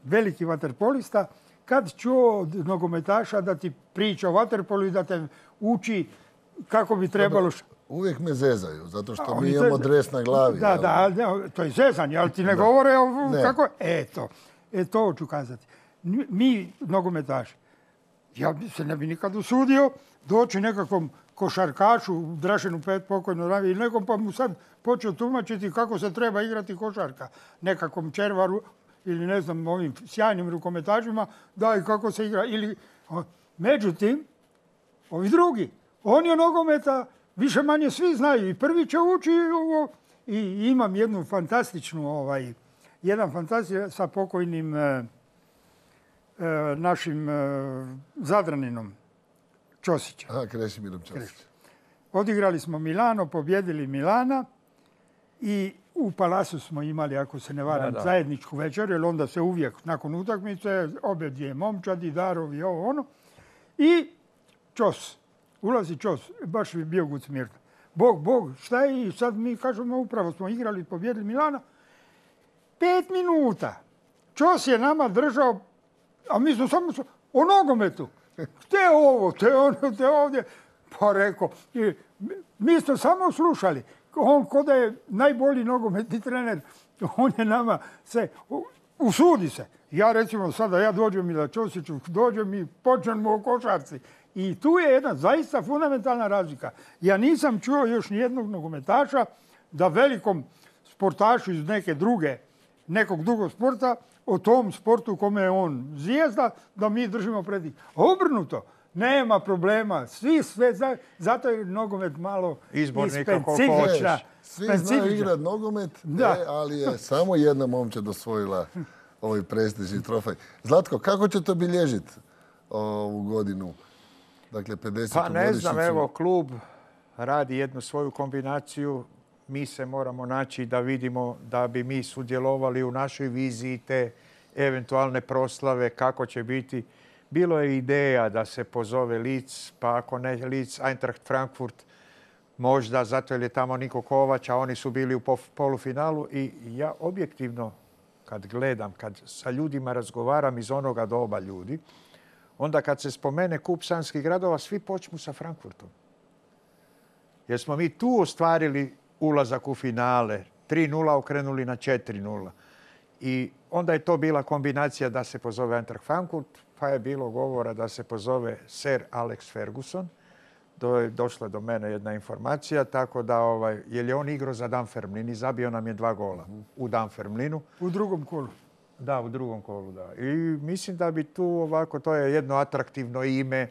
veliki vaterpolista kad čuo od nogometaša da ti priča o vaterpolu i da te uči kako bi trebalo... Uvijek me zezaju, zato što A, mi oni imamo zezaju. dres na glavi. Da, jel? da, ali ne, to je zezanje, ali ti ne govore o Ne. kako... Eto, e, to hoću kazati. N- Mi, nogometaši, ja bi se ne bi nikad usudio doći nekakvom košarkašu, Drašenu Pet pokojno ravi, ili nekom pa mu sad počeo tumačiti kako se treba igrati košarka. Nekakvom Červaru ili ne znam, ovim sjajnim rukometašima, da i kako se igra. Ili, o, međutim, ovi drugi, oni o nogometa više manje svi znaju i prvi će ući ovo. I imam jednu fantastičnu, ovaj, jedan fantastičan sa pokojnim e, e, našim e, Zadraninom Ćosićem. Aha, Krešimirom Ćosić. Odigrali smo Milano, pobjedili Milana i u Palasu smo imali, ako se ne varam, Da, da. zajedničku večer, jer onda se uvijek nakon utakmice obje dvije momčadi, darovi, ovo ono. I Ćos, ulazi Ćos, baš je bio Guc Mirko. Bog, Bog, šta je? I sad mi kažemo, upravo smo igrali, pobjedili Milana. Pet minuta. Ćos je nama držao, a mi smo samo su- o nogometu. Te ovo, te ono, te ovdje. Pa rekao, i mi smo samo slušali. On ko da je najbolji nogometni trener, on je nama se, u- usudi se. Ja recimo sada, ja dođem i da Ćosiću, dođem i počnemo o košarci. I tu je jedna zaista fundamentalna razlika. Ja nisam čuo još nijednog nogometaša da velikom sportašu iz neke druge, nekog drugog sporta, o tom sportu kome je on zvijezda, da mi držimo pred njih. Obrnuto, nema problema. Svi sve, zato je nogomet malo izbornika specifična. Svi znaju igrati nogomet, e, ali je samo jedna momčad osvojila ovaj prestižni trofej. Zlatko, kako ćete obilježiti ovu godinu? Dakle, pedesetu Pa ne znam, godišnjicu. evo, klub radi jednu svoju kombinaciju. Mi se moramo naći da vidimo da bi mi sudjelovali u našoj viziji te eventualne proslave, kako će biti. Bilo je ideja da se pozove Leeds, pa ako ne Leeds, Eintracht Frankfurt, možda zato jer je tamo Niko Kovač, a oni su bili u polufinalu. I ja objektivno, kad gledam, kad sa ljudima razgovaram iz onoga doba ljudi, onda kad se spomene kup sanskih gradova, svi počnu sa Frankfurtom. Jer smo mi tu ostvarili ulazak u finale. tri nula okrenuli na četiri nula. I onda je to bila kombinacija da se pozove Eintracht Frankfurt, pa je bilo govora da se pozove Sir Alex Ferguson. Do, je došla do mene jedna informacija, tako da, ovaj, jer je on igrao za Dunfermline i zabio nam je dva gola u Dunfermlinu. U drugom kolu. Da, u drugom kolu, da. I mislim da bi tu ovako, to je jedno atraktivno ime,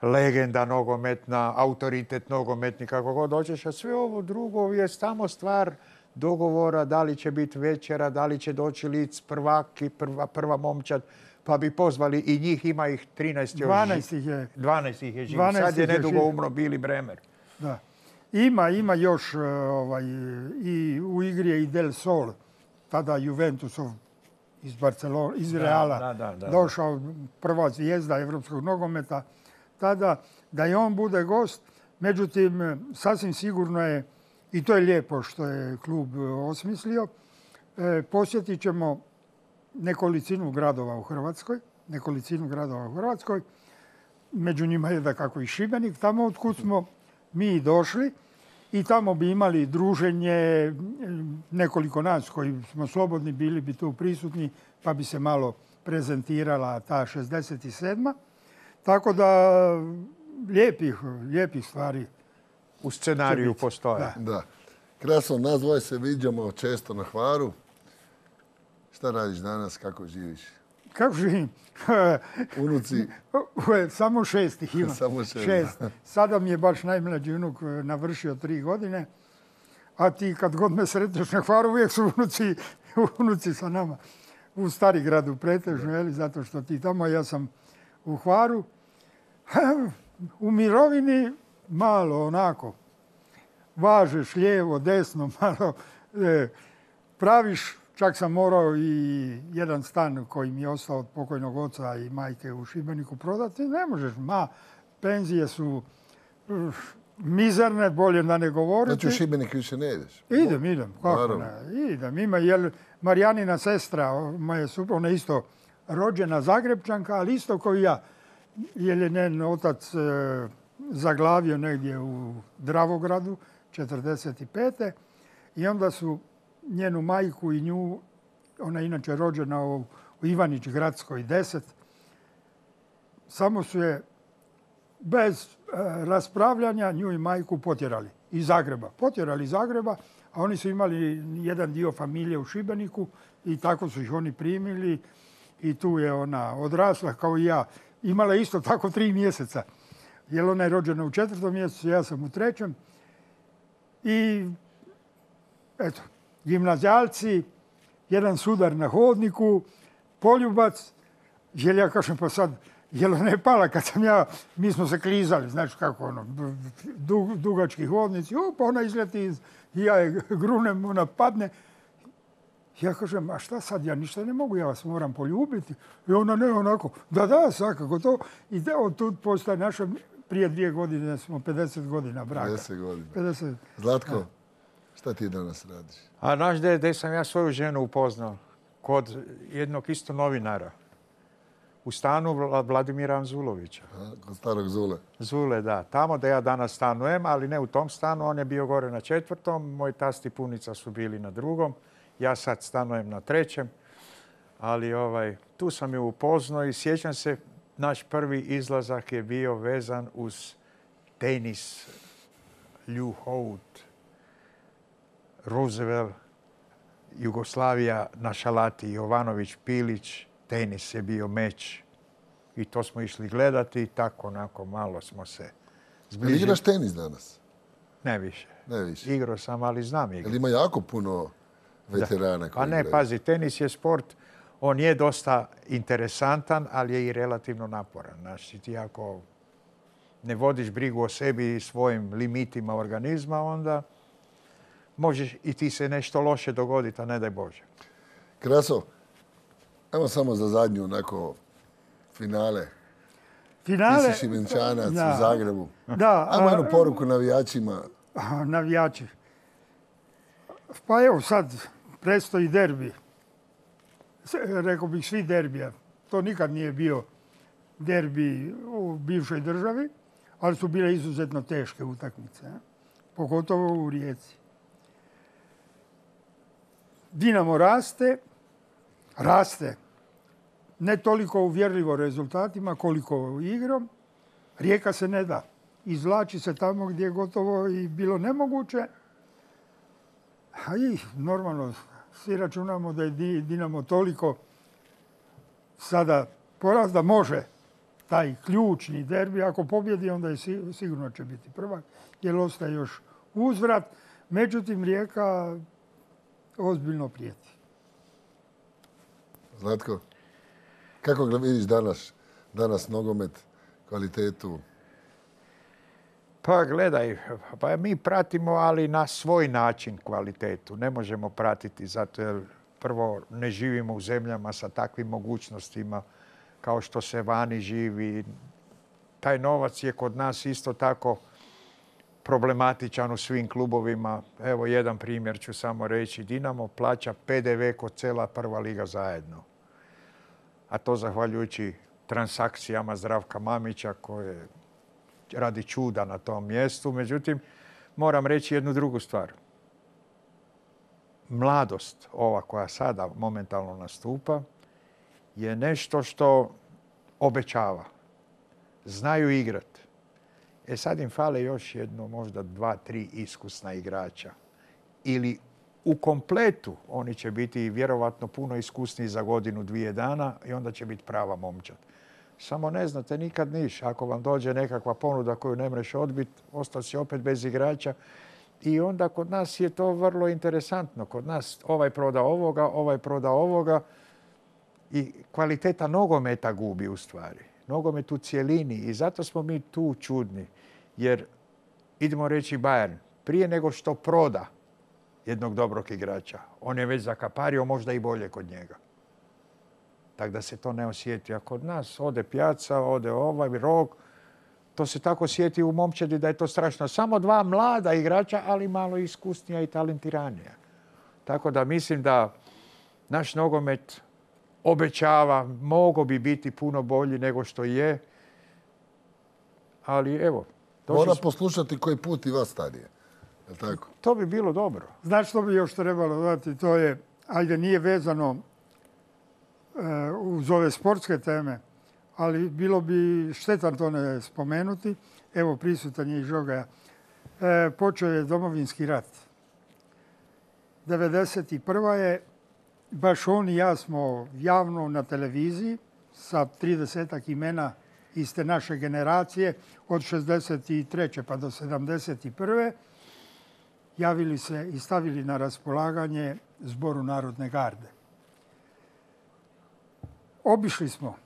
legenda nogometna, autoritet nogometni, kako god hoćeš, a sve ovo drugo je samo stvar dogovora, da li će biti večera, da li će doći Leeds prvaki, prva, prva momčad, pa bi pozvali i njih, ima ih trinaest još. dvanaest ih je. dvanaest ih je živ. Sad je nedugo umro Billy Bremer. Da. Ima, ima još ovaj, i u igri je i Del Sol, tada Juventusov iz Barcelona, iz Reala, da, da, da, da. došao prva zvijezda evropskog nogometa. Tada da i on bude gost, međutim, sasvim sigurno je, i to je lijepo što je klub osmislio, e, posjetit ćemo nekolicinu gradova u Hrvatskoj, nekolicinu gradova u Hrvatskoj, među njima je dakako i Šibenik, tamo otkud smo mi došli i tamo bi imali druženje, nekoliko nas koji smo slobodni bili bi tu prisutni, pa bi se malo prezentirala ta šezdeset sedma. Tako da lijepih, lijepih stvari u scenariju postoje. Da. Da. Krasno, nas dvoje se viđamo često na Hvaru. Šta radiš danas, kako živiš? Kako živim? Unuci? Samo šest ih imam. Samo šest. šest. Sada mi je baš najmlađi unuk navršio tri godine. A ti kad god me sretneš na Hvaru, uvijek su unuci, unuci sa nama. U Starigradu pretežno, jeli, zato što ti tamo, ja sam u Hvaru. U mirovini malo onako. Važeš lijevo, desno, malo e, praviš. Čak sam morao i jedan stan koji mi je ostao od pokojnog oca i majke u Šibeniku prodati. Ne možeš, ma, penzije su uh, mizerne, bolje da ne govoriti. Znači u Šibenik više ne ideš? Idem, idem, kako ne, idem. Ima, jer Marijanina sestra, moja supruga, ona je isto rođena Zagrebčanka, ali isto kao i ja. Jer je njen otac e, zaglavio negdje u Dravogradu, četrdeset pete. I onda su njenu majku i nju, ona je inače rođena u, u Ivanić Gradskoj deset, samo su je bez e, raspravljanja nju i majku potjerali iz Zagreba. Potjerali iz Zagreba, a oni su imali jedan dio familije u Šibeniku i tako su ih oni primili i tu je ona odrasla kao i ja. Imala je isto tako tri mjeseca, jer ona je rođena u četvrtom mjesecu, ja sam u trećem. I eto, gimnazijalci, jedan sudar na hodniku, poljubac, jer ja kažem pa sad, jel ona je pala kad sam ja, mi smo se klizali, znači kako ono, dug, dugački hodnici, pa ona izleti iz, i ja je grunem, ona padne. Ja kažem, a šta sad, ja ništa ne mogu, ja vas moram poljubiti. I ona ne, onako, da, da, svakako to. I da, od tu postaje naša, prije dvije godine smo pedeset godina braka. pedeset godina. pedeset. Zlatko, da. Šta ti danas radiš? A znaš gdje sam ja svoju ženu upoznao? Kod jednog isto novinara. U stanu Vladimira Anzulovića. A, kod starog Zule. Zule, da. Tamo da ja danas stanujem, ali ne u tom stanu. On je bio gore na četvrtom. Moj tast i punica su bili na drugom. Ja sad stanujem na trećem. Ali ovaj, tu sam je upoznao i sjećam se, naš prvi izlazak je bio vezan uz tenis. Lju Hout, Roosevelt, Jugoslavija na šalati, Jovanović, Pilić, tenis je bio meč. I to smo išli gledati i tako onako malo smo se zbližili. Jel igraš tenis danas? Ne više. Ne više. Igrao sam, ali znam igrati. Jel ima jako puno veterana koji Pa ne, igraju? pazi, tenis je sport, on je dosta interesantan, ali je i relativno naporan. Znači, ti ako ne vodiš brigu o sebi i svojim limitima organizma, onda možeš i ti se nešto loše dogoditi, a ne daj Bože. Kraso, evo samo za zadnju onako finale. Finale... Ti si Šibenčanac Da. u Zagrebu. Da. Ajmo a- jednu poruku navijačima. a, Navijači. Pa evo sad, predstoji derbi. S- Rekao bih svi derbija. To nikad nije bio derbi u bivšoj državi, ali su bile izuzetno teške utakmice. a. Pogotovo u Rijeci. Dinamo raste, raste. Ne toliko uvjerljivo rezultatima koliko igrom. Rijeka se ne da. Izvlači se tamo gdje je gotovo i bilo nemoguće. A i normalno, svi računamo da je Di- Dinamo toliko sada poraz da može taj ključni derbi. Ako pobjedi, onda je si- sigurno će biti prvak, jer ostaje još uzvrat. Međutim, Rijeka ozbiljno prijeti. Zlatko, kako ga vidiš danas, danas nogomet, kvalitetu? Pa gledaj, pa mi pratimo, ali na svoj način kvalitetu. Ne možemo pratiti zato jer prvo ne živimo u zemljama sa takvim mogućnostima kao što se vani živi. Taj novac je kod nas isto tako problematičan u svim klubovima. Evo jedan primjer ću samo reći. Dinamo plaća P D V kod cijela prva liga zajedno. A to zahvaljujući transakcijama Zdravka Mamića koje radi čuda na tom mjestu. Međutim, moram reći jednu drugu stvar. Mladost, ova koja sada momentalno nastupa, je nešto što obećava. Znaju igrati. E sad im fale još jedno, možda dva, tri iskusna igrača. Ili u kompletu oni će biti vjerovatno puno iskusniji za godinu, dvije dana i onda će biti prava momčad. Samo ne znate nikad niš. Ako vam dođe nekakva ponuda koju ne mreš odbiti, ostao si opet bez igrača. I onda kod nas je to vrlo interesantno. Kod nas ovaj proda ovoga, ovaj proda ovoga i kvaliteta nogometa gubi u stvari. Nogomet u cjelini i zato smo mi tu čudni. Jer, idemo reći Bayern, prije nego što proda jednog dobrog igrača, on je već zakapario možda i bolje kod njega. Tako da se to ne osjeti. A kod nas ode Pjaca, ode ovaj Rog, to se tako osjeti u momčadi da je to strašno. Samo dva mlada igrača, ali malo iskusnija i talentiranija. Tako da mislim da naš nogomet obećava, mogao bi biti puno bolji nego što je. Ali evo. Mora smo- poslušati koji put i vas stadije. Je li tako? To bi bilo dobro. Znaš što bi još trebalo dodati? To je, ajde nije vezano e, uz ove sportske teme, ali bilo bi štetan to ne spomenuti. Evo, prisutan je i Žoga. E, počeo je Domovinski rat. devedeset prva je, baš on i ja smo javno na televiziji sa tridesetak imena iz te naše generacije od šezdeset treće pa do sedamdeset prve javili se i stavili na raspolaganje Zboru Narodne garde. Obišli smo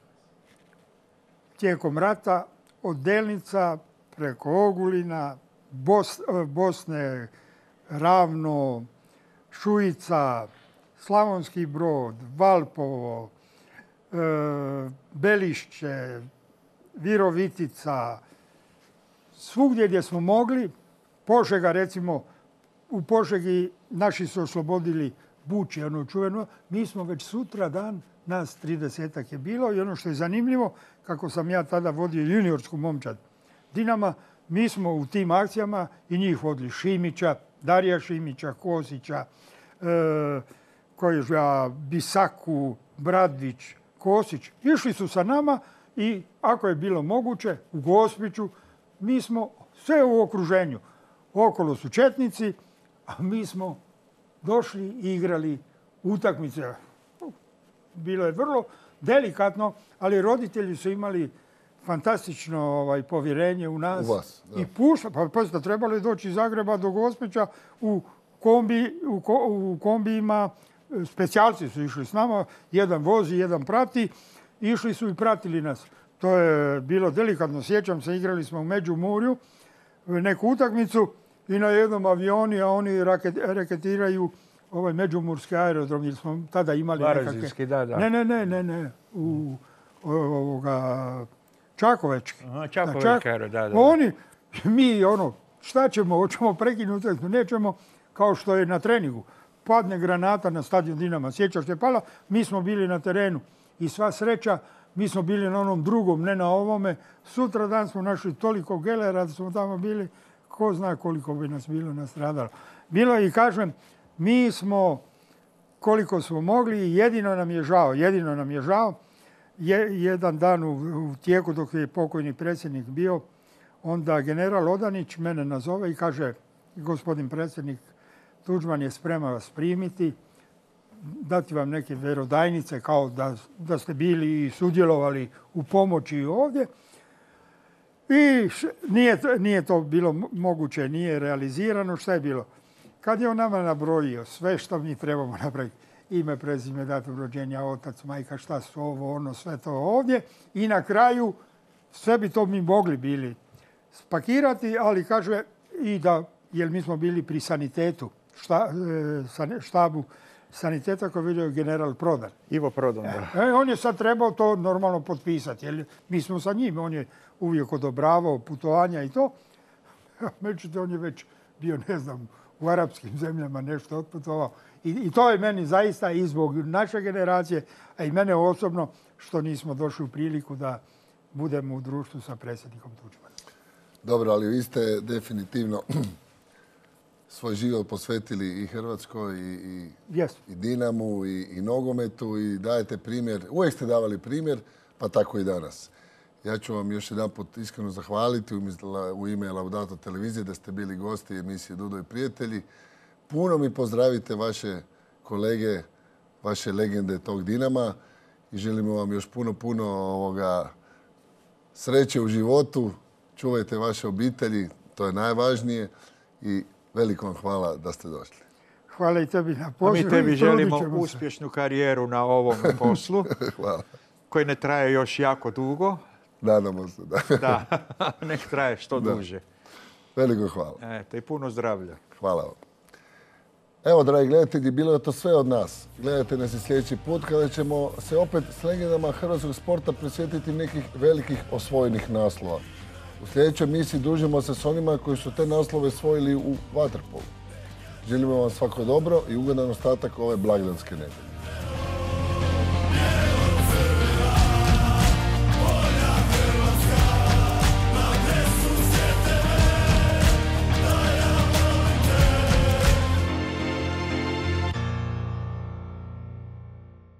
tijekom rata od Delnica preko Ogulina, Bos, Bosne, Ravno, Šujica, Slavonski Brod, Valpovo, e, Belišće, Virovitica, svugdje gdje smo mogli. Požega, recimo, u Požegi naši su oslobodili Buče, ono čuveno. Mi smo već sutra dan, nas tridesetak je bilo i ono što je zanimljivo, kako sam ja tada vodio juniorsku momčad Dinama, mi smo u tim akcijama i njih vodili Šimića, Darija Šimića, Kosića, e, Kojiža, Bisaku, Bradvić, Kosić, išli su sa nama i ako je bilo moguće u Gospiću, mi smo sve u okruženju. Okolo su četnici, a mi smo došli i igrali utakmice. Bilo je vrlo delikatno, ali roditelji su imali fantastično ovaj, povjerenje u nas. U vas, da. I pušta, pa pazite, trebalo je doći iz Zagreba do Gospića u, kombi, u, ko, u kombijima. Specijalci su išli s nama, jedan vozi, jedan prati. Išli su i pratili nas. To je bilo delikatno. Sjećam se, igrali smo u Međimurju neku utakmicu i na jednom avioni, a oni raket, raketiraju ovaj međumurski aerodrom, jer smo tada imali Varaždinski, nekakve... da, da. Ne, ne, ne, ne, ne. U ovoga... Čakovečki. Aha, Čakovečki aerodrom, da, da. Oni, mi, ono, šta ćemo, hoćemo prekinuti, nećemo, kao što je na treningu. Padne granata na stadion Dinama. Sjećaš se pala, mi smo bili na terenu. I sva sreća, mi smo bili na onom drugom, ne na ovome. Sutra dan smo našli toliko gelera da smo tamo bili, ko zna koliko bi nas bilo nastradalo. Bilo i kažem, mi smo, koliko smo mogli, jedino nam je žao, jedino nam je žao. Je, jedan dan u, u tijeku dok je pokojni predsjednik bio, onda general Odanić mene nazove i kaže, gospodin predsjednik Tuđman je spreman vas primiti, dati vam neke vjerodajnice kao da, da ste bili i sudjelovali u pomoći ovdje. I š, nije, nije to bilo moguće, nije realizirano. Šta je bilo? Kad je on nama nabrojio sve što mi trebamo napraviti, ime, prezime, datum rođenja, otac, majka, šta su ovo, ono, sve to ovdje. I na kraju sve bi to mi mogli bili spakirati, ali kaže i da, jer mi smo bili pri sanitetu, šta, štabu saniteta koji vidio general Prodan. Ivo Prodan, da. E, on je sad trebao to normalno potpisati, jer mi smo sa njim, on je uvijek odobravao putovanja i to. Međutim, on je već bio, ne znam, u arapskim zemljama nešto otputovao. I, I to je meni zaista i zbog naše generacije, a i mene osobno, što nismo došli u priliku da budemo u društvu sa predsjednikom Tuđmanom. Dobro, ali vi ste definitivno svoj život posvetili i Hrvatskoj, i, i, yes. i Dinamu, i, i nogometu i dajete primjer. Uvijek ste davali primjer, pa tako i danas. Ja ću vam još jedan put iskreno zahvaliti u ime Laudato televizije da ste bili gosti emisije Dudo i prijatelji. Puno mi pozdravite vaše kolege, vaše legende tog Dinama i želimo vam još puno, puno ovoga sreće u životu. Čuvajte vaše obitelji, to je najvažnije i veliko vam hvala da ste došli. Hvala i tebi na pozivu. A mi tebi želimo uspješnu karijeru na ovom poslu. Hvala. Koji ne traje još jako dugo. Nadamo se, da. Da, nek traje što da. duže. Veliko hvala. Eto, i puno zdravlja. Hvala vam. Evo, dragi gledatelji, bilo je to sve od nas. Gledajte nas i sljedeći put kada ćemo se opet s legendama hrvatskog sporta presjetiti nekih velikih osvojenih naslova. U sljedećoj emisiji družimo se s onima koji su te naslove osvojili u vaterpolu. Želimo vam svako dobro i ugodan ostatak ove blagdanske nedjelje.